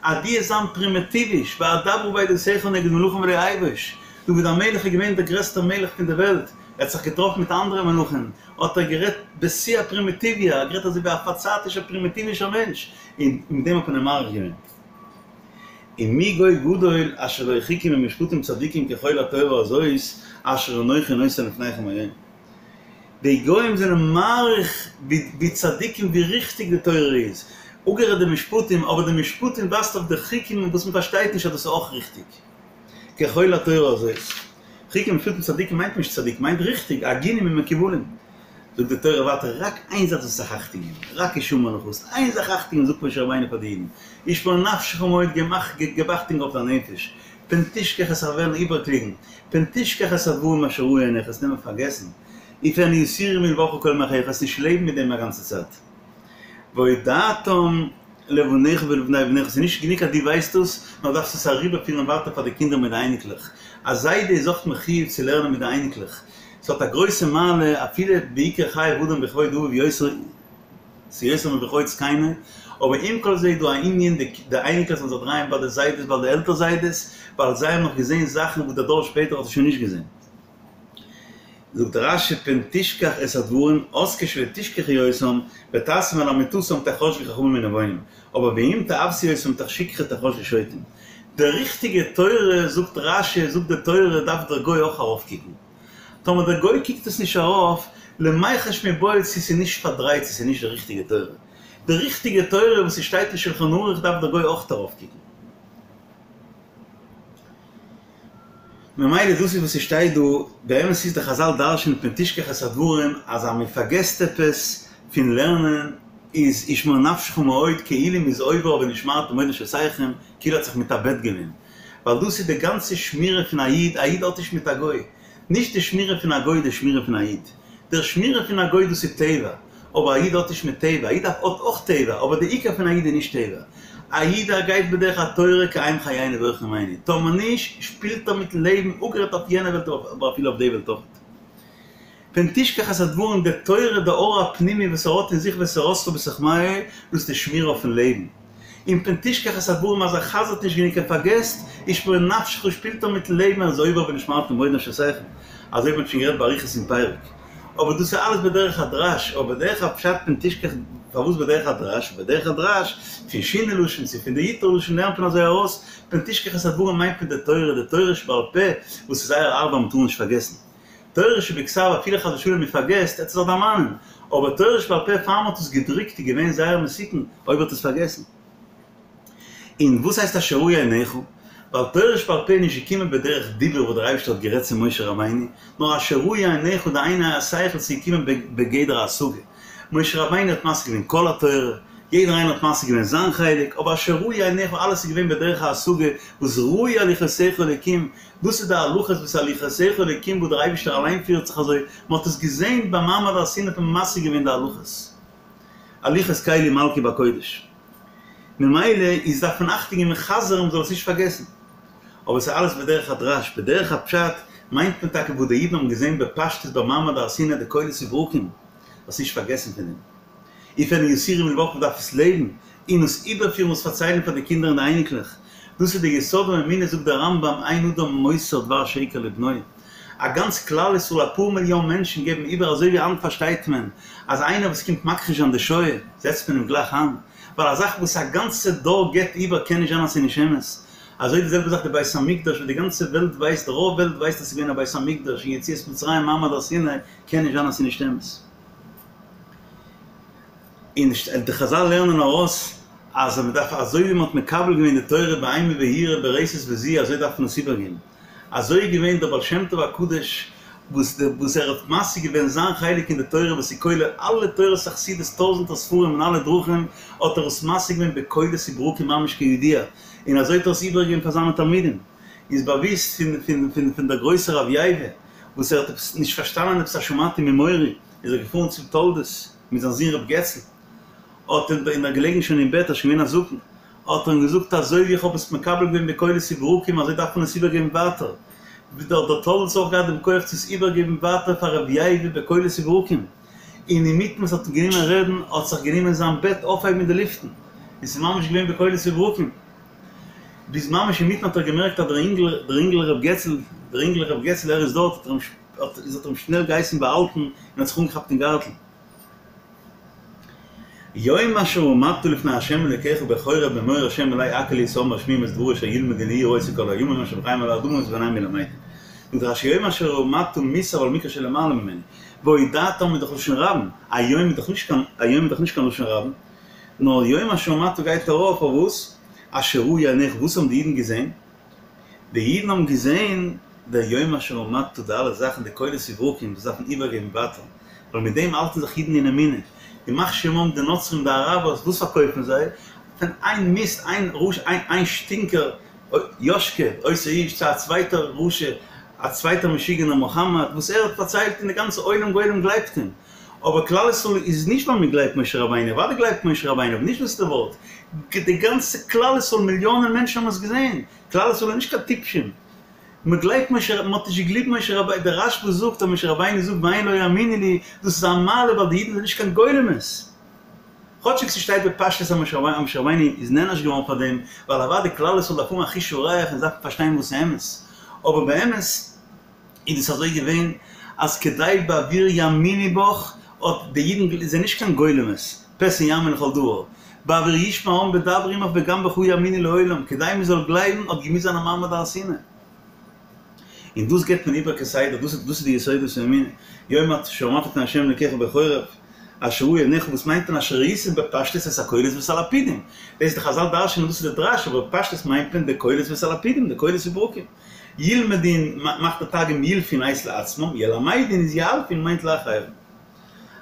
אז דו וועסט זיין פרימיטיוויש, ואדברה בעדותיך נגד מלכים ולא אבוש, דוד המלך איז געווען דער גרעסטער מלך פון די וועלט, ער האט זיך געטראפן מיט אנדערע מלכים, האט ער גערעדט בשיא הפרימיטיביה, ער האט גערעדט אזוי ווי א פארצייטישער פרימיטיווישער מענטש, און מיט דעם האט מען אים מאריך געווען. ומי גוי גדול אשר לו חוקים ומשפטים צדיקים ככל התורה הזאת אשר אנכי נותן לפניכם היום. די גוים זענען מעריך ווי צדיקים ווי ריכטיג די תורה איז, אפגערעדט די משפטים, אבער די משפטים ווייזט אויף די חוקים וואס מען פארשטייט נישט אז דאס איז אויך ריכטיג. ככל התורה הזאת. חוקים ומשפטים צדיקים מיינט נישט צדיק, מיינט ריכטיג, הגונים ומקובלים. זאגט די תורה ווייטער רק איין זאך זאלסטו זיך אכטונג געבן, רק השמר לך, זאלסט איין זאך אכטונג געבן, זאגט משה רבינו פאר די אידן, השמר נפשך מאוד, געב אכטונג אויף דיין נפש, פן תשכח וועסט וועלן איבערקלוגן, פן תשכח את הדברים אשר ראו עיניך, וועסט נעמען פארגעסן, ופן יסורו מלבבך כל ימי חייך, וועסט נישט לעבן מיט דעם א גאנצע צייט. והודעתם לבניך ולבני בניך, ס'איז נישט גענוג אז דו ווייסט דאס, נאר דארפסט עס אריבערפירן ווייטער פאר די קינדער מיט די אייניקלעך. א זיידע איז אויך מחיוב צו לערנען מיט די אייניקלעך. ס'האט א גרויסע מעלה, אפילו בעיקר חייב אדם בכבוד אביו יותר, ס'יותר מבכבוד זקינו, אבער עם כל זה איז דא א ענין די אייניקלעך זאלן זיך דרייען ביי די זיידעס ביי די עלטער זיידעס, ווייל זיי האבן נאך געזען זאכן וואס דער דור שפעטער האט עס שוין נישט געזען. זאגט רש"י פן תשכח את הדברים אז כשלא תשכחו אותם ותעשם על אמיתתם תחשבו חכמים ונבונים אבער ואם תעוותו אותם מתוך שכחה תחשבו שוטים. די ריכטיגע תורה זאגט רש"י זאגט די תורה דארף דער גוי אויך ארויפקוקן. טאמער דער גוי קוקט עס נישט ארויף למיחש מיבעי צו ס'איז נישט פארדרייט צו ס'איז נישט די ריכטיגע תורה. די ריכטיגע תורה וואס ס'שטייט אין שלחן ערוך דארף דער גוי אויך ארויפקוקן. ממילא דאס איז וואס ס'שטייט דא, באמת איז די חזל דרש'נען פן תשכח את הדברים אז אז מ'פארגעסט עפעס פון לערנען איז השמר נפשך מאוד כאילו מ'איז עובר אויף ונשמרתם מאוד לנפשותיכם כאילו האט זיך מתאבד געווען ווייל דאס איז די גאנצע שמירה פון א איד, א איד האט נישט מיט א גוי, נישט די שמירה פון א גוי איז די שמירה פון א איד, דער שמירה פון א גוי דאס איז טבע, אבער א איד האט נישט מיט טבע, א איד האט אויך טבע, אבער די עיקר פון א איד איז נישט טבע. א איד ער גייט בדרך התורה כי הם חיינו ואורח ימינו, טאמער נישט, שפילט ער מיטן לעבן, אפגערעדט אויף יענע וועלט אבער אפילו אויף די וועלט אויך. פן תשכח את הדברים, די תורה, די אור הפנימי וואס ער האט אין זיך ותורתך בתוך מעי, דאס איז די שמירה אויפן לעבן. און פן תשכח את הדברים אז ער חזר'ט נישט גענוג ער פארגעסט, השמר נפשך שפילט ער מיטן לעבן ער איז עובר ונשמרתם מאוד לנפשותיכם, אזוי ווי מ'האט שוין גערעדט באריכות אין פרק. אבער דאס איז אלעס בדרך הדרש, אבער בדרך הפשט פן תשכח, פארוואס בדרך הדרש? בדרך הדרש, פון שינוי לשון צו פון די יתרו לשון לערנט מען אזוי ארויס, פן תשכח את הדברים מיינט מען די תורה, די תורה שבעל פה, וואס איז זייער הארב אז מ'טאר נישט פארגעסן. תורה שבכתב אפילו חס ושלום מ'פארגעסט, עט ער זיך דערמאנען, אבער תורה שבעל פה פאר מ'האט עס געדרוקט איז געווען זייער מסוכן אויב האט עס פארגעסן. און וואס הייסט אשר ראו עיניך? ווייל תורה שבעל פה איז נישט געקומען בדרך דיבור וואס דער אייבערשטער האט גערעדט צו משה רבינו, נאר אשר ראו עיניך די עיני השכל ס'איז געקומען בגדר השגה. משה רבינו האט משיג געווען כל התורה, יעדער איינער האט משיג געווען זיין חלק, אבער אשר ראו עיניך אלעס איז געווען בדרך ההשגה וואס ראו הליכותיך אלוקים, דאס איז די הלכות וואס הליכותיך אלוקים וואס דער אייבערשטער אליין פירט זיך אזוי, מען האט עס געזען ביים מעמד הר סיני האט מען משיג געווען די הלכות, הליכות קלי מלכי בקודש. ממילא איז דארף מען אכטונג געבן חזר'ן מ'זאל עס נישט פארגעסן. אבער ס'איז אלעס בדרך הדרש, בדרך הפשט מיינט מען טאקע וואס די אידן האבן געזען בפשטות ביי מעמד הר סיני די קולות וברקים, זאלסט נישט פארגעסן פון דעם. ופן יסורו מלבבך מ'דארף עס לעבן און עס איבערפירן און עס פארציילן פאר די קינדער און די אייניקלעך. דאס איז די יסוד האמונה זאגט דער רמב"ם אין אדם מוסר דבר שקר לבנו. א גאנץ כלל ישראל אפאר מיליאן מענטשן געבן איבער אזוי ווי היינט פארשטייט מען אז איינער וואס קומט מכחיש זיין די שואה זעצט מען אים גלייך איין ווייל א זאך וואס א גאנצע דור געבט איבער קען נישט זיין אז ס'איז נישט אמת אזוי די זעלבע זאך די בית המקדש וואס די גאנצע וועלט ווייסט רוב וועלט ווייסט אז ס'איז געווען א בית המקדש און יציאת מצרים מעמד הר סיני קען נישט זיין אז ס'איז נישט אמת. און די חזל לערנען ארויס אז מען דארף אזוי ווי מען האט מקבל געווען די תורה באימה ויראה ברתת וזיע אזוי דארף מען עס איבערגעבן. אזוי איז געווען דער בעל שם טוב הקדוש וואס וואס ער האט משיג געווען זיין חלק אין די תורה וואס איז כולל אלע תורות החסידות טויזענטער ספרים און אלע דרכים האט ער עס משיג געווען בקולות וברקים ממש כידוע און אזוי האט ער עס איבערגעגעבן פאר זיינע תלמידים. איז באוויסט פון פון פון פון דער גרויסער רב ייבא וואס ער האט עפעס נישט פארשטאנען עפעס א שמעתי ממורי איז ער געפארן צום תולדות מיט זיין זון רב געצל האט אים און ער געלעגן שוין אין בעט ער איז שוין געווען א זקן האט ער אים געזאגט אזוי ווי איך האב עס מקבל געווען בקולות וברקים אזוי דארף מען עס איבערגעבן ווייטער, האט דער תולדות אויך געהאט דעם כח צו עס איבערגעבן ווייטער פאר רבי ייבא בקולות וברקים, און אינמיטן וואס האט גענומען רעדן האט זיך גענומען זיין בעט אויפהייבן אין די לופטן, און ס'איז ממש געווען בקולות וברקים, ביז ממש אינמיטן האט ער געמערקט אז דער אינגל דער אינגל ר' געצל דער אינגל ר' געצל ער איז דארט האט ער אים. איז האט ער אים שנעל געהייסן באהאלטן און האט זיך אנגעכאפט אין גארטל. יום אשר עמדת לפני ה' אלוקיך בחורב לאמור ה' אלי הקהל לי את העם והשמיעם את דברי אשר ילמדון ליראותי כל הימים אשר הם חיים על האדמה ואת בניהם ילמדון. זאגט רש"י יום אשר עמדת מוסב על מקרא שלמעלה ממנו, והודעתם איז דאך לשון רבים, היום איז דאך נישט קיין היום איז דאך נישט קיין לשון רבים, נאר יום אשר עמדת גייט ארויף אויף וואס? אשר ראו עיניך, וואס האבן די אידן געזען? די אידן האבן געזען דער יום אשר עמדת די אלע זאכן די קולות וברקים וואס דארפן איבערגעבן ווייטער, ווייל מיט דעם האלטן זיך אידן אין אמונה, ימח שמם די נוצרים די אראבערס וואס פארקויפן זיי? פון איין מיסט איין רשע איין שטינקער יאשקע אותו האיש צו א צווייטער רשע א צווייטער משוגענער מוחמד וואס ער האט פארציילט און די גאנצע עולם גולם גלייבט אים, אבער כלל ישראל איז נישט ווייל מען גלייבט משה רבינו, אוודאי גלייבט משה רבינו אבער נישט דאס איז די ווארט, די גאנצע כלל ישראל מיליאנען מענטשן האבן עס געזען, כלל ישראל איז נישט קיין טיפשים, מען גלייבט משה רבינו, מען האט נישט געגליבט משה רבינו, דער רשב"א זאגט אז משה רבינו זאגט והן לא יאמינו לי, דאס איז א מעלה ווייל די אידן זענען נישט קיין גולמות, כאטשיג ס'שטייט בפשטות אז משה רבינו איז נענש געווארן פאר דעם, ווייל אוודאי כלל ישראל דארף האבן א חוש הריח און דארף פארשטיין וואס איז אמת, אבער באמת איז דאס אזוי געווען אז כדי בעבור יאמינו בך האט די אידן זענען נישט קיין גולמות, פה סון יאמין לכל דבר, בעבור ישמע העם בדברי עמך וגם בך יאמינו לעולם, כדי מען זאל גלייבן האט געמוזט זיין א מעמד הר סיני. און דאס געבט מען איבער כסדר, דאס איז די יסודות האמונה, יום אשר עמדת לפני ה' אלקיך בחורב, אשר ראו עיניך, וואס מיינט מען אשר ראית בפשטות את הקולות ואת הלפידים? דאס די חזל דרש'נען דאס איז די דרש, אבער בפשטות מיינט מען די קולות ואת הלפידים, די קולות וברקים. ילמדון מאכט די תרגום ילפון הייסט לעצמם, ילמדון איז ילפון מיינט לאחרים.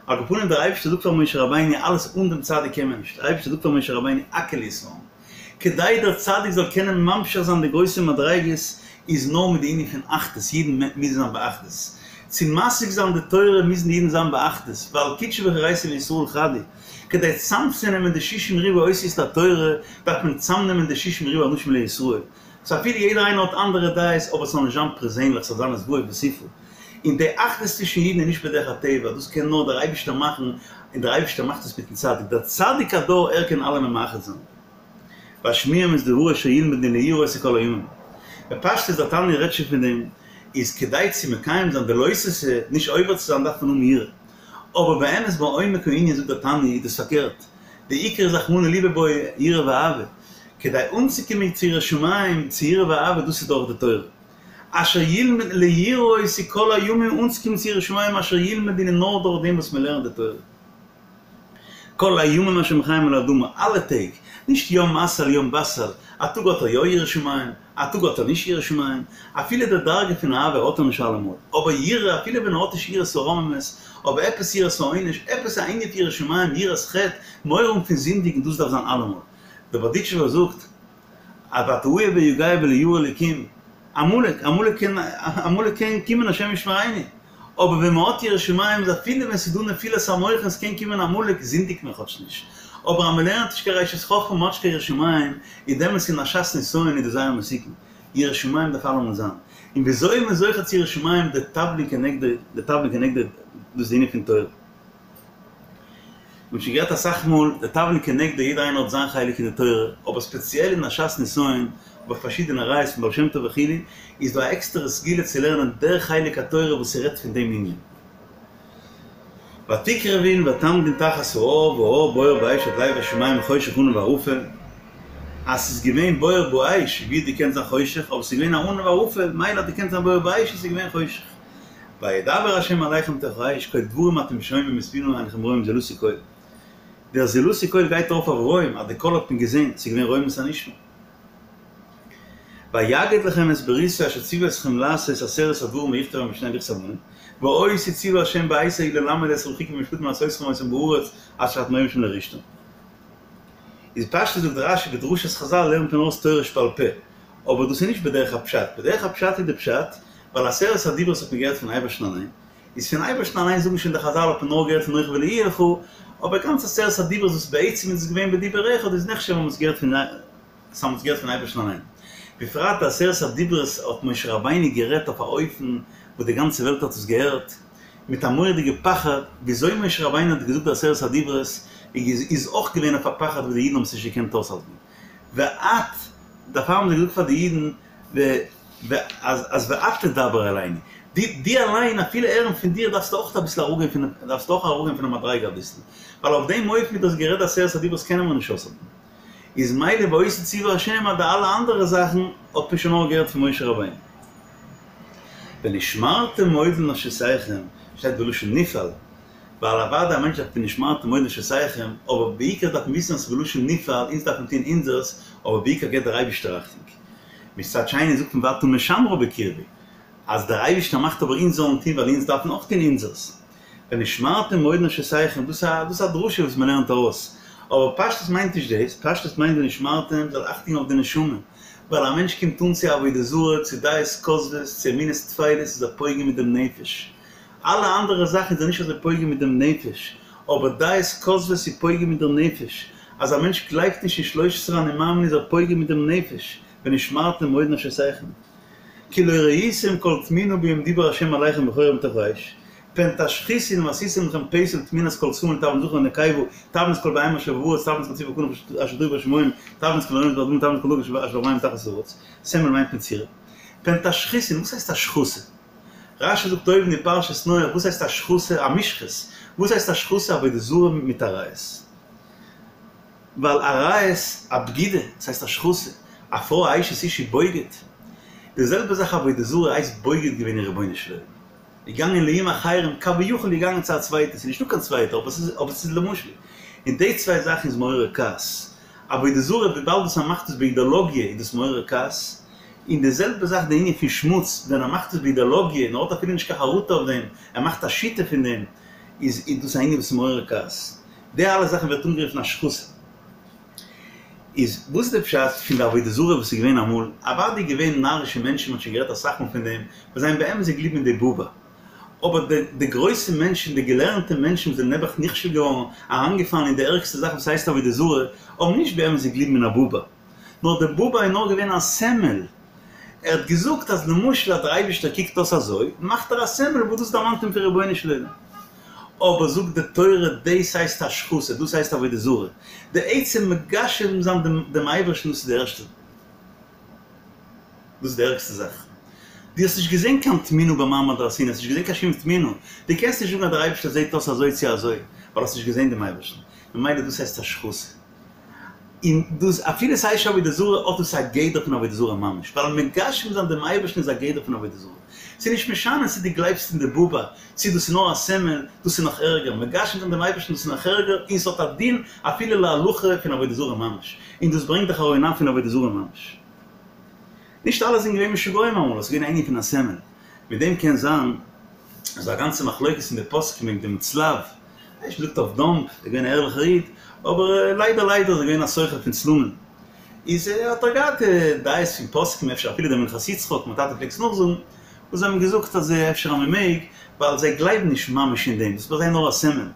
על כל פנים דער אייבערשטער זאגט פאר משה רבינו אלעס אן דעם צדיק קען מען נישט, דער אייבערשטער זאגט פאר משה רבינו הקהל לי את העם, כדי דער צדיק זאל קענען ממשיך זיין די גרויסע מדריגות איז נאר מיט די ענין פון אחדות, אידן מוזן זיין באחדות, צו משיג זיין די תורה מוזן די אידן זיין באחדות, ווייל קודשא בריך הוא ואורייתא וישראל חד הוא, כדי צאמצונעמען די שישים ריבוא אותיות לתורה דארף מען צאמנעמען די שישים ריבוא אנשים לישראל, סאו אפילו יעדער איינער האט אנדערע דעות אבער ס'זאל נישט זיין פערזענליך ס'זאל זיין את והב בסופה. און די אחדות צווישן אידן איז נישט בדרך הטבע, דאס קען נאר דער אייבערשטער מאכן, און דער אייבערשטער מאכט עס מיטן צדיק, דער צדיק הדור ער קען אלעמען מאחד זיין. והשמיעם את דברי אשר ילמדון ליראותי כל הימים. בפשטות דער תניא רעדט שוין פון דעם, איז כדי צו מקיים זיין די לא תעשה, נישט עובר צו זיין דארף מען האבן יראה. אבער באמת בעומק הענין זאגט דער תניא איז דאס פארקערט, די עיקר איז רחמנא ליבא בעי יראה ואהבה, כדי אנצוקומען צו יראת שמים, צו יראה ואהבה דאס איז דורך די תורה. אשר ילמד ליראותי כל הימים אנצוקומען צו יראת שמים אשר ילמדון איז נאר דורך דעם וואס מען לערנט די תורה. כל הימים אשר הם חיים על האדמה, אלע טעג, נישט יום אסל יום בסל, א טאג האט ער יא יראת שמים, א טאג האט ער נישט יראת שמים, אפילו די דרגה פון אהבה האט ער נישט אלעמאל, אבער יראה אפילו ווען ער האט נישט יראת הרוממות, אבער עפעס יראת העונש, עפעס א ענין פון יראת שמים, יראת חטא, מורא האבן פון זינדיגן, דאס דארף זיין אלעמאל. דער בארדיטשובער זאגט. אז ואתה עיף ויגע ולא ירא אלקים, עמלק, עמלק קען, עמלק קען קומען השם ישמרינו, אבער ווען מען האט יראת שמים איז אפילו ווען ס'איז דא נפילת המוחין ס'קען קומען עמלק זינדיגט מען כאטש נישט, אבער אז מען לערנט נישט קיין ראשית חכמה מען האט נישט קיין יראת שמים, איז דעמאלטס אין א שעת נסיון איז דאס זייער מסוכן, יראת שמים דארף אלעמאל זיין, און וויאזוי איז מען זוכה צו יראת שמים די תבלין כנגדו, די תבלין כנגדו דאס איז די ענין פון תורה. מ'האט שוין גערעדט אסאך מאל, די תבלין כנגדו יעדער איינער האט זיין חלק אין די תורה, אבער ספעציעל אין א שעת נסיון, האב איך פארשידענע ראיות פון בעל שם טוב וכו', איז דא א עקסטערע סגולה צו לערנען דער חלק התורה וואס ס'רעדט פון דעם ענין. ותקרבון ותעמדון תחת ההר וההר בוער באש עד לב השמים חושך ענן וערפל, אז ס'איז געווען בוער באש ווי האט געקענט זיין חושך, אבער ס'איז געווען א ענן וערפל, מילא האט געקענט זיין בוער באש און ס'איז געווען חושך. וידבר ה' אליכם מתוך האש קול דברים אתם שומעים ותמונה אינכם רואים זולתי קול. דער זולתי קול גייט ארויף אויף רואים אז די קול האט מען געזען, ס'איז געווען רוממות הנשמע. ויגד לכם את בריתו אשר ציווה אתכם לעשות עשרת הדברים ויכתב בם שני לוחות אבנים, ואותי ציווה ה' בעת ההיא ללמד אתכם חוקים ומשפטים לעשותכם אותם בארץ אשר אתם עוברים שם לרשתה. איז פשטות זאגט רשי בדרשת חזל לערנט מען אויס תורה שבעל פה, אבער דאס איז נישט בדרך הפשט, בדרך הפשט איז די פשט, ווייל עשרת הדיברות האט מען געהערט פון אייבערשטן אליין, איז פון אייבערשטן אליין זאגן שוין די חזל האט מען נאר געהערט פון אנכי ולא יהיה לך, אבער גאנץ עשרת הדיברות וואס בעצם איז עס געווען בדיבור אחד איז נחשב אז מען האט עס געהערט פון אז מען האט עס געהערט פון אייבערשטן אליין. בפרט די עשרת הדיברות האט משה רבינו גערעדט אויף א אופן וואס די גאנצע וועלט האט עס געהערט, מיט א מורא'דיגע פחד, וויאזוי משה רבינו האט געזאגט די עשרת הדיברות איז אויך געווען אויף א פחד וואס די אידן האבן עס נישט געקענט אויסהאלטן. ואת, דערפאר האבן זיי געזאגט פאר די אידן, אז אז ואת תדבר אלינו, דו דו אליין אפילו הערן פון דיר דארפסטו אויך אביסל אראפגיין פון דארפסטו אויך אראפגיין פון די מדריגה אביסל, ווייל אויף דעם אופן ווי דו האסט גערעדט עשרת הדיברות קענען מיר נישט אויסהאלטן. איז מילא ואותי צוה השם אז די אלע אנדערע זאכן האט מען שוין נאר געהערט פון משה רבינו. ונשמרתם מאוד לנפשותיכם שטייט בלשון נפעל, ווייל אוודאי א מענטש דארף ונשמרתם מאוד לנפשותיכם, אבער בעיקר דארף מען וויסן אז ס'איז בלשון נפעל, אונז דארף מען טון אונזערס, אבער בעיקר געבט דער אייבישטער אכטונג. מצד שני זאגט מען ואתה משמרה בקרבי, אז דער אייבישטער מאכט אבער אונז זאלן טון ווייל אונז דארפן אויך טון אונזערס. ונשמרתם מאוד לנפשותיכם, דאס איז א דרשה וואס מען לערנט ארויס, אבער פשטות מיינט נישט דאס, פשטות מיינט ונשמרתם זאל אכטונג אויף די נשמה, ווייל א מענטש קומט אן צו עבודה זרה, צו דעות כוזבות, צו אמונות טפלות איז ער פוגם מיט דעם נפש, אלע אנדערע זאכן איז ער נישט אזוי פוגם מיט דעם נפש, אבער דעות כוזבות איז פוגם מיט דער נפש, אז א מענטש גלייבט נישט אין שלש עשרה אני מאמין איז ער פוגם מיט דעם נפש, ונשמרתם מאוד לנפשותיכם. כי לא ראיתם כל תמונה ביום דיבר השם אליכם בחורב מתוך האש, פן תשחיתון ועשיתם לכם פסל תמונת כל סמל תבנית זכר ונקבה, תבנית כל בהמה אשר בארץ, תבנית כל ציפור כנף אשר טור בשמים, תבנית כל הרמש באדמה, תבנית כל דג אשר במים מתחת הארץ. סמל מיינט מצורע. פן תשחיתון, וואס הייסט השחתה? רשי זאגט אויבן אין פרשת נח, וואס הייסט השחתה? א משחית. וואס הייסט השחתה? עבודה זרה מיט עריות. ווייל עריות, א בגידה, דאס הייסט השחתה, א פרוי א אשת איש איז בוגד. די זעלבע זאך עבודה זרה הייסט בוגד געווען אין רבונו של עולם. געגאנגען לאום אחרים, כביכול געגאנגען צו א צווייטע, ס'איז נישטא קיין צווייטע, אבער ס'איז אבער ס'איז למשל. און די צוויי זאכן איז מעורר כעס. עבודה זרה וויבאלד וואס ער מאכט עס באידעלאגיע איז דאס מעורר כעס. און די זעלבע זאך די ענין פון שמוץ, ווען ער מאכט עס באידעלאגיע און ער האט אפילו נישט קיין חרטה אויף דעם, ער מאכט א שיטה פון דעם, איז איז דאס א ענין וואס איז מעורר כעס. די אלע זאכן ווערט אנגערופן השחתה. איז וואס איז די פשט פון די עבודה זרה וואס איז געווען אמאל? אוודאי געווען נארישע מענטשן, מ'האט שוין גערעדט אסאך מאל פון דעם, וואס זיי האבן באמת געגליבן אין די בובע. אבער די די גרויסע מענטשן, די געלערנטע מענטשן וואס זענען נעבעך נכשל געווארן, אריינגעפאלן אין די ערגסטע זאך וואס הייסט עבודה זרה, האבן נישט באמת געגליבן אין א בובע. נאר די בובע איז נאר געווען א סמל. ער האט געזאגט אז למשל אז דער אייבישטער קוקט אויס אזוי, מאכט ער א סמל וואס דאס דערמאנט אים פון רבונו של עולם. אבער זאגט די תורה דאס הייסט השחתה, דאס הייסט עבודה זרה. די עצם מגשם זיין דעם אייבערשטן דאס איז די ערשטע, דאס איז די ערגסטע זאך. דו האסט נישט געזען קיין תמונה במעמד הר סיני, האסט נישט געזען קיין שום תמונה, דו קענסט נישט זאגן אז דער אייבערשטער זעט אויס אזוי צו אזוי, ווייל האסט נישט געזען דעם אייבערשטן. ממילא דאס הייסט השחתה. און דאס אפילו ס'הייסט נישט עבודה זרה האט עס א גדר פון עבודה זרה ממש, ווייל מגשם זיין דעם אייבערשטן איז א גדר פון עבודה זרה. ס'איז נישט משנה צו דו גלייבסט אין די בובע, צו דאס איז נאר א סמל, דאס איז נאך ערגער, מגשם זיין דעם אייבערשטן דאס איז נאך ערגער, און ס'האט א דין אפילו להלכה פון עבודה זרה ממש, און דאס ברענגט די חרון אף פון עבודה זרה ממש. נישט אלע זענען געווען משוגעים אמאל, עס איז געווען א ענין פון א סמל. מיט דעם קען זיין אז א גאנצע מחלוקת אין די פוסקים וועגן דעם צלב, נישט געזאגט אויף דאמב, ער איז געווען א ערליכער איד, אבער ליידער ליידער איז ער געווען א סוחר פון צלמים, איז האט ער געהאט דעות פון פוסקים, אפשר אפילו דער מנחת יצחק, מיין טאטע פלעגט עס נאכזאגן, וואס זיי האבן געזאגט אז אפשר אז מען מעג, ווייל זיי גלייבן נישט ממש אין דעם, דאס איז ביי זיי נאר א סמל,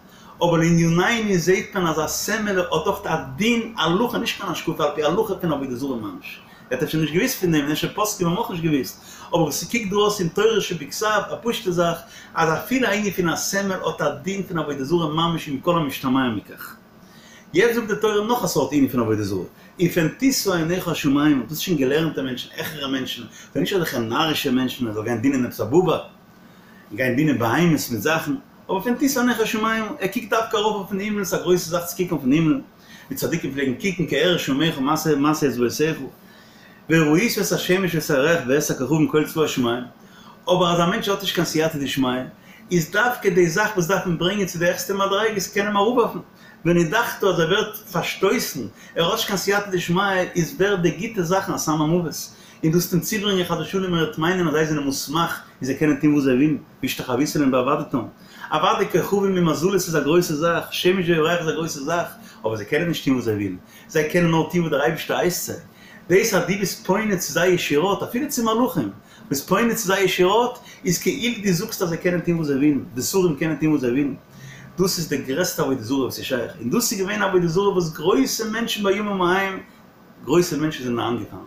אבער לענינינו זעהט מען אז א סמל האט אויך א דין הלכה, נישט קיין השקפה על פי הלכה פון עבודה זרה ממש. ער האט אפשר נישט געוואוסט פון דעם, און אפשר פוסקים האבן אויך נישט געוואוסט, אבער וואס ס'קוקט דא אויס אין תורה שבכתב, א פשוטע זאך, אז אפילו א ענין פון א סמל האט א דין פון עבודה זרה ממש עם כל המשתמע מכך. יעצט זאגט די תורה נאך א סארט ענין פון עבודה זרה, ופן תשא עיניך השמימה, דאס איז שוין געלערנטע מענטשן, העכערע מענטשן, זענען נישט אזעלכע נארישע מענטשן אז זאל גיין דינען עפעס א בובע, גיין דינען בהמות מיט זאכן, אבער פן תשא עיניך השמימה, ער קוקט דווקא ארויף אויפן הימל, ס'איז א גרויסע זאך צו קוקן אויפן הימל, ווי צדיקים פלעגן קוקן כי אראה שמיך מעשה מעשה אצבעותיך, וראית את השמש ואת הירח ואת הכוכבים כל צבא השמים, אבער אז א מענטש האט נישט קיין סייעתא דשמיא, איז דווקא די זאך וואס דארף אים ברענגען צו די העכסטע מדריגות קען אים אראפווארפן, ונדחת אז ער ווערט פארשטויסן, ער האט נישט קיין סייעתא דשמיא, איז ווערט די גוטע זאכן א סם המוות, און דאס וועט אים צוברענגען חס ושלום ער וועט מיינען אז זיי זענען מוסמך און זיי קענען טון וואס זיי ווילן, והשתחוית להם ועבדתם. אוודאי כוכבים און מזלות איז א גרויסע זאך, שמש וירח איז א גרויסע זאך, אבער זיי קענען נישט טון וואס זיי ווילן, זיי קענען נאר טון וואס דער אייבערשטער הייסט זיי. דאס אז דו ביסט פונה צו זיי ישירות, אפילו צו מלאכים, ביסט פונה צו זיי ישירות, איז כאילו דו זאגסט אז זיי קענען טון וואס זיי ווילן, די שרים קענען טון וואס זיי ווילן. דאס איז די גרעסטע עבודה זרה וואס איז שייך, און דאס איז געווען עבודה זרה וואס גרויסע מענטשן בימים ההם, גרויסע מענטשן זענען אריינגעפאלן.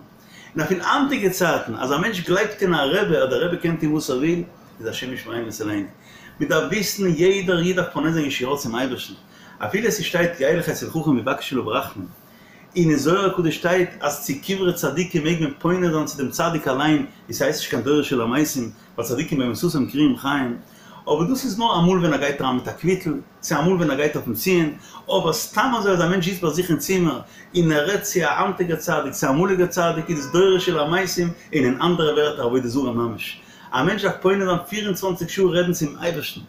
און אפילו היינטיגע צייטן, אז א מענטש גלייבט אין א רבי אז דער רבי קען טון וואס ער וויל, איז השם ישמרינו ויצילנו. מען דארף וויסן, יעדער איד דארף פונה זיין ישירות צום אייבערשטן, אפילו עס שטייט ילך אצל חכם ויבקש עליו רחמים, און אין זוהר הקדוש שטייט אז צו קברי צדיקים מעג מען פונה זיין צו דעם צדיק אליין, און ס'הייסט נישט קיין דורש אל המתים, ווייל צדיקים במיתתם קרויים חיים. אבער דאס איז נאר אמאל ווען ער גייט אריין מיט א קוויטל, צו אמאל ווען ער גייט אויפן ציון, אבער סתם אזוי אז א מענטש זיצט ביי זיך אין צימער און ער רעדט צו א היינטיגער צדיק צו א אמאליגער צדיק איז דאס דורש אל המתים און אין אנדערע ווערטער עבודה זרה ממש. א מענטש דארף פונה זיין פֿיר און צוואַנציק שעה רעדן צום אייבערשטן,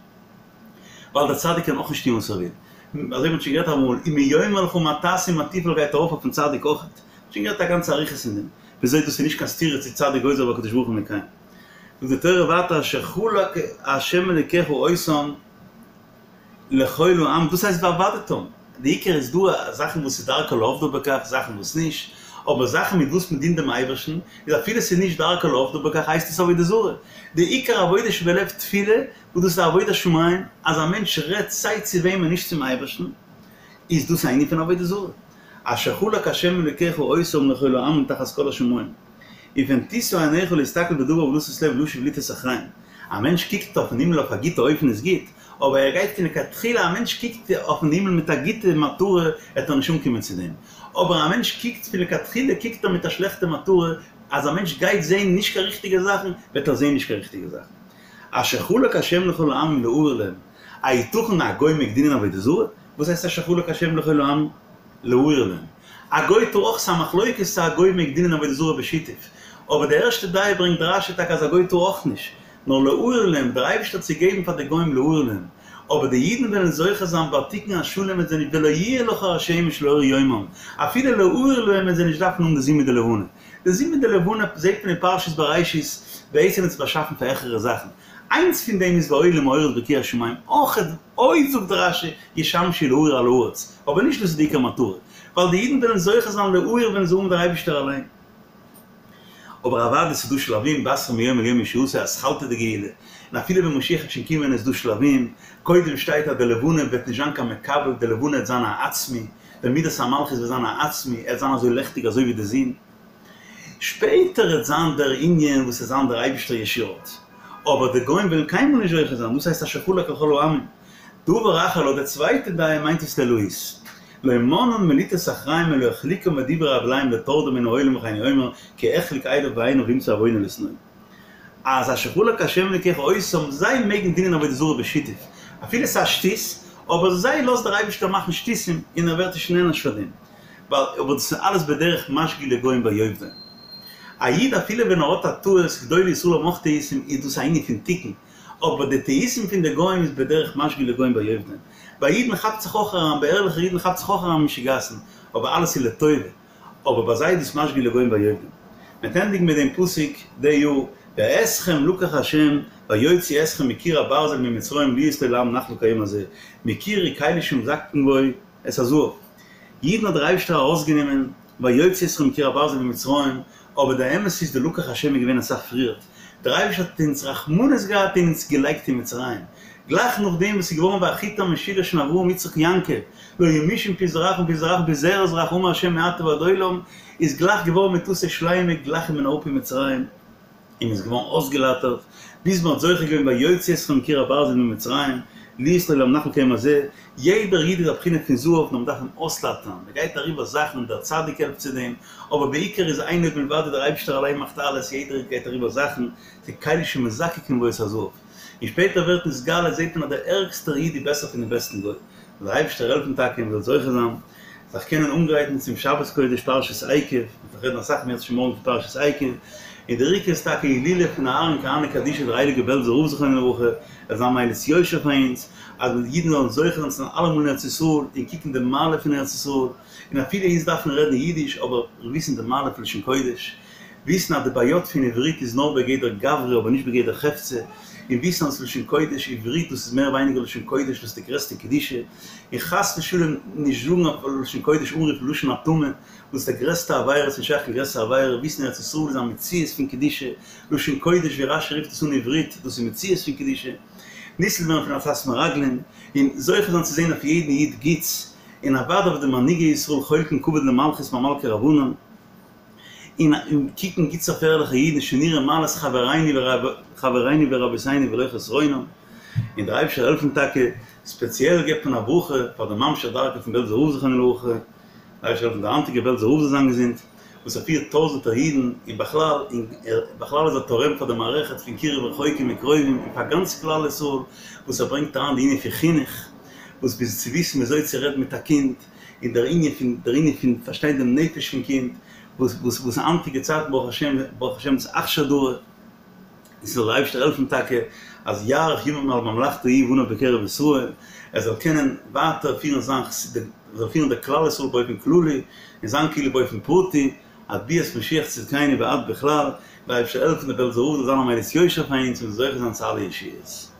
ווייל דער צדיק קען אויך נישט טון וואס ער וויל. אזוי ווי מ'האט שוין גערעדט אמאל, אם הוא יאמר לך מה תעשה ומה תפעל גייט ארויף אויפן צדיק אויך. מ'האט שוין גערעדט א גאנצע אריכות אין דעם, וויאזוי דאס איז נישט קיין סתירה צו צדיק גוזר והקדוש ברוך הוא מקיים. זאגט די תורה ווייטער אשר חלק ה' אלוקיך אותם לכל העמים, דאס הייסט ועבדתם, די עיקר איז דא זאכן וואס איז דרכו לעובדו בכך, זאכן וואס נישט, אבער זאכן מיט וואס מען דינט דעם אייבערשטן, איז אפילו ס'איז נישט דרכו לעובדו בכך הייסט עס עבודה זרה, די עיקר עבודה שבלב תפילה, וואס דאס איז עבודת שמים, אז א מענטש רעדט סיי צו וועמען נישט צום אייבערשטן, איז דאס א ענין פון עבודה זרה, אשר חלק ה' אלוקיך אותם לכל העמים תחת כל השמים. ופן תשא עיניך להסתכל בדבר ולתת לב לשוב לטעות אחריהם. א מענטש קוקט אויפן הימל אויף א גוטע אופן איז גוט, אבער ער גייט פון לכתחילה א מענטש קוקט אויפן הימל מיט א גוטע מטרה עט ער נישט אנקומען צו דעם, אבער א מענטש קוקט פון לכתחילה קוקט ער מיט א שלעכטע מטרה, אז א מענטש גייט זעהן נישט קיין ריכטיגע זאכן וועט ער זעהן נישט קיין ריכטיגע זאכן. אשר חלק ה' לכל העמים להאיר להם, היתכן א גוי מעג דינען עבודה זרה? וואס הייסט אשר חלק ה' לכל העמים? להאיר להם. א גוי טאר אויך, ס'איז א מחלוקת צו א גוי מעג דינען עבודה זרה בשיתוף. אבער די ערשטע דעה ברענגט רש"י טאקע אז א גוי טאר אויך נישט. נאר להאיר להם, דער אייבערשטער האט צוגעגעבן פאר די גוים להאיר להם. אבער די אידן וועלן זוכה זיין ביי תיקון השלם וועט זיי נישט ולא יהיה לך השמש לאור יומם. אפילו להאיר להם וועט זיי נישט דארפן האבן די זון מיט די לבנה. די זון מיט די לבנה זעט מען אין פרשת בראשית בעצם איז עס באשאפן פאר העכערע זאכן. איינס פון דעם איז והיו למאורות ברקיע השמים, אויך עוד זאגט רש"י ישמשו להאיר על הארץ, אבער נישט דאס איז די עיקר מטרה, ווייל די אידן וועלן זוכה זיין להאיר ווען זיי האבן דער אייבישטער אליין. אבער אוודאי ס'איז דא שלבים, בתרה מיום אל יום ישועתו אתחלתא דגאולה, און אפילו ווען משיח וועט שוין קומען איז דא שלבים, קודם שטייט אז די לבנה וועט נישט זיין קיין מקבל, די לבנה וועט זיין א עצמי, די מידת המלכות וועט זיין א עצמי, ער וועט זיין אזוי לעכטיג אזוי ווי די זון. שפעטער וועט זיין דער ענין וואס עט זיין דער אייבישטער ישירות, אבער די גוים וועלן קיינמאל נישט זוכה זיין, דאס הייסט אשר חלק לכל העמים. דבר אחר לויט די צווייטע דעה מיינט עס לאלוהית. לא מנאן מלטעות אחריהם אלא החליקם בדברי הבלים לטורדם מן העולם וכן הוא אומר כי החליק עיניו בעיניו וימצא עוונו לשנוא. אז אשר חלק השם אלוקיך אותם זיי מעגן דינען עבודה זרה בשיתוף אפילו ס'איז א שטות, אבער זיי לאזט דער אייבישטער מאכן שטותים און ער ווערט נישט נענש פאר דעם. ווייל אבער דאס איז אלעס בדרך משגה לגוים ויאבדון. א איד אפילו ווען ער האט א טעות, גדולי ישראל האבן אויך טעותים, איז דאס א ענין פון תיקון, אבער די טעותים פון די גוים איז בדרך משגה לגוים ויאבדון. ביי אידן כאפט זיך אויך אריין, ביי ערליכע אידן כאפט זיך אויך אריין משוגעת'ן, אבער אלעס איז לטובה, אבער ביי זיי איז דאס משגה לגוים ויאבדון. מ'וועט ענדיגן מיט דעם פסוק די יאר, ואתכם לקח ה' ויוציא אתכם מקיר הברזל ממצרים להיות לו לעם נחלה כהיום הזה, מקיר הוא כלי שמזקקין בו את הזהב. אידן האט דער אייבערשטער ארויסגענומען ויוציא אתכם מקיר הברזל ממצרים, אבער דער אמת איז די לקח השם איז געווען אסאך פריערט, דער אייבערשטער האט אונז רחמנות געהאט און אונז געלייגט אין מצרים, גלייך נאכדעם וואס איז געווארן והחוט המשולש פון אברהם יצחק יעקב, לא היה משום פי זרעך ומפי זרעך ומפי זרע זרעך אמר השם מעתה ועד עולם, איז גלייך געווארן מטתו שלימה גלייך איז מען אראפ אין מצרים. און מ'איז געווארן אויסגעלייטערט, ביז מ'האט זוכה געווען ויוציא אתכם מקיר הברזל ממצרים, להיות לו לעם נחלה כהיום הזה, יעדער איד איז א בחינה פון זהב, נאר מ'דארף אים אויסלייטערן, מ'גייט אריבער זאכן, דער צדיק העלפט צו דעם, אבער בעיקר איז אין עוד מלבדו דער אייבישטער אליין מאכט אלעס, יעדער איד גייט אריבער זאכן, ס'איז כלי שמזקקין בו את הזהב, און שפעטער ווערט נתגלה זעט מען אז דער ערגסטער איד איז בעסער פונעם בעסטן גוי, זאל דער אייבישטער העלפן טאקע מ'זאל זוכה זיין. זיך קענען אנגרייטן צום שבת קודש פרשת עקב, מ'וועט רעדן אסאך אם ירצה השם מארגן פון פרשת עקב, און דער עיקר איז טאקע הילולא פון אהרן כהנא קדישא דער הייליגער בעלזער רב זכרונו לברכה, ער זאל זיין מליץ יושר פאר אונז, אז מיר אידן זאלן זוכה זיין צו זיין אלעמאל אין ארץ ישראל, און קוקן די מעלה פון ארץ ישראל, און אפילו אונז דארפן רעדן אידיש אבער וויסן די מעלה פון לשון קודש, וויסן אז די בעיות פון עברית איז נאר בגדר גברא אבער נישט בגדר חפצא, און וויסן אז לשון קודש עברית דאס איז מער ווייניגער לשון קודש דאס איז די גרעסטע קדושה, און חס ושלום נישט זאגן אויף לשון קודש אנרופן לשון הטמא וואס איז די גרעסטע עבירה ס'נישט שייך קיין גרעסערע עבירה, וויסן ארץ ישראל איז א מציאות פון קדושה, לשון קודש ווי רש"י רופט עס אן עברית דאס איז מציאות פון קדושה, ניצל ווערן פון עצת מרגלים, און זוכה זיין צו זען אויף יעדן איד גוטס, און אוודאי אויף די מנהיגי ישראל חולקין כבוד למלכות מה מלכי רבנן. און קוקן גוטס אויף ערליכע אידן שנראה מעלת חברינו ורבותינו ולא חסרונם, און דער אייבערשטער זאל העלפן טאקע, ספעציעל געבט מען א ברכה פאר די ממשיך דרכו פון בעלזער רב זכרונו לברכה, דער אייבערשטער זאל העלפן דער היינטיגער בעלזער רב זאל זיין געזונט, וואס ער פירט טויזענטער אידן, און בכלל, און בכלל איז ער תורם פאר די מערכת פון קירוב רחוקים וקרובים, און פאר גאנץ כלל ישראל, וואס ער ברענגט אריין די ענין פון חינוך, וואס ביז צו וויסן וויאזוי צו רעדן מיט א קינד, און דער ענין פון דער ענין פון פארשטיין דעם נפש פון קינד, וואס וואס וואס היינטיגע צייטן ברוך השם ברוך השם איז אכשר דרא, און ס'זאל דער אייבערשטער העלפן טאקע אז יאריך ימים על ממלכתו הוא ובניו בקרב ישראל, ער זאל קענען ווייטער פירן זיין זאל פירן די כלל ישראל באופן כללי, און זיין קהילה באופן פרטי, עד ביאת משיח צדקינו ועד בכלל, דער אייבערשטער העלפן דער בעלזער רב זאל זיין א מליץ יושר פאר אונז און זוכה זיין צו אלע ישועות.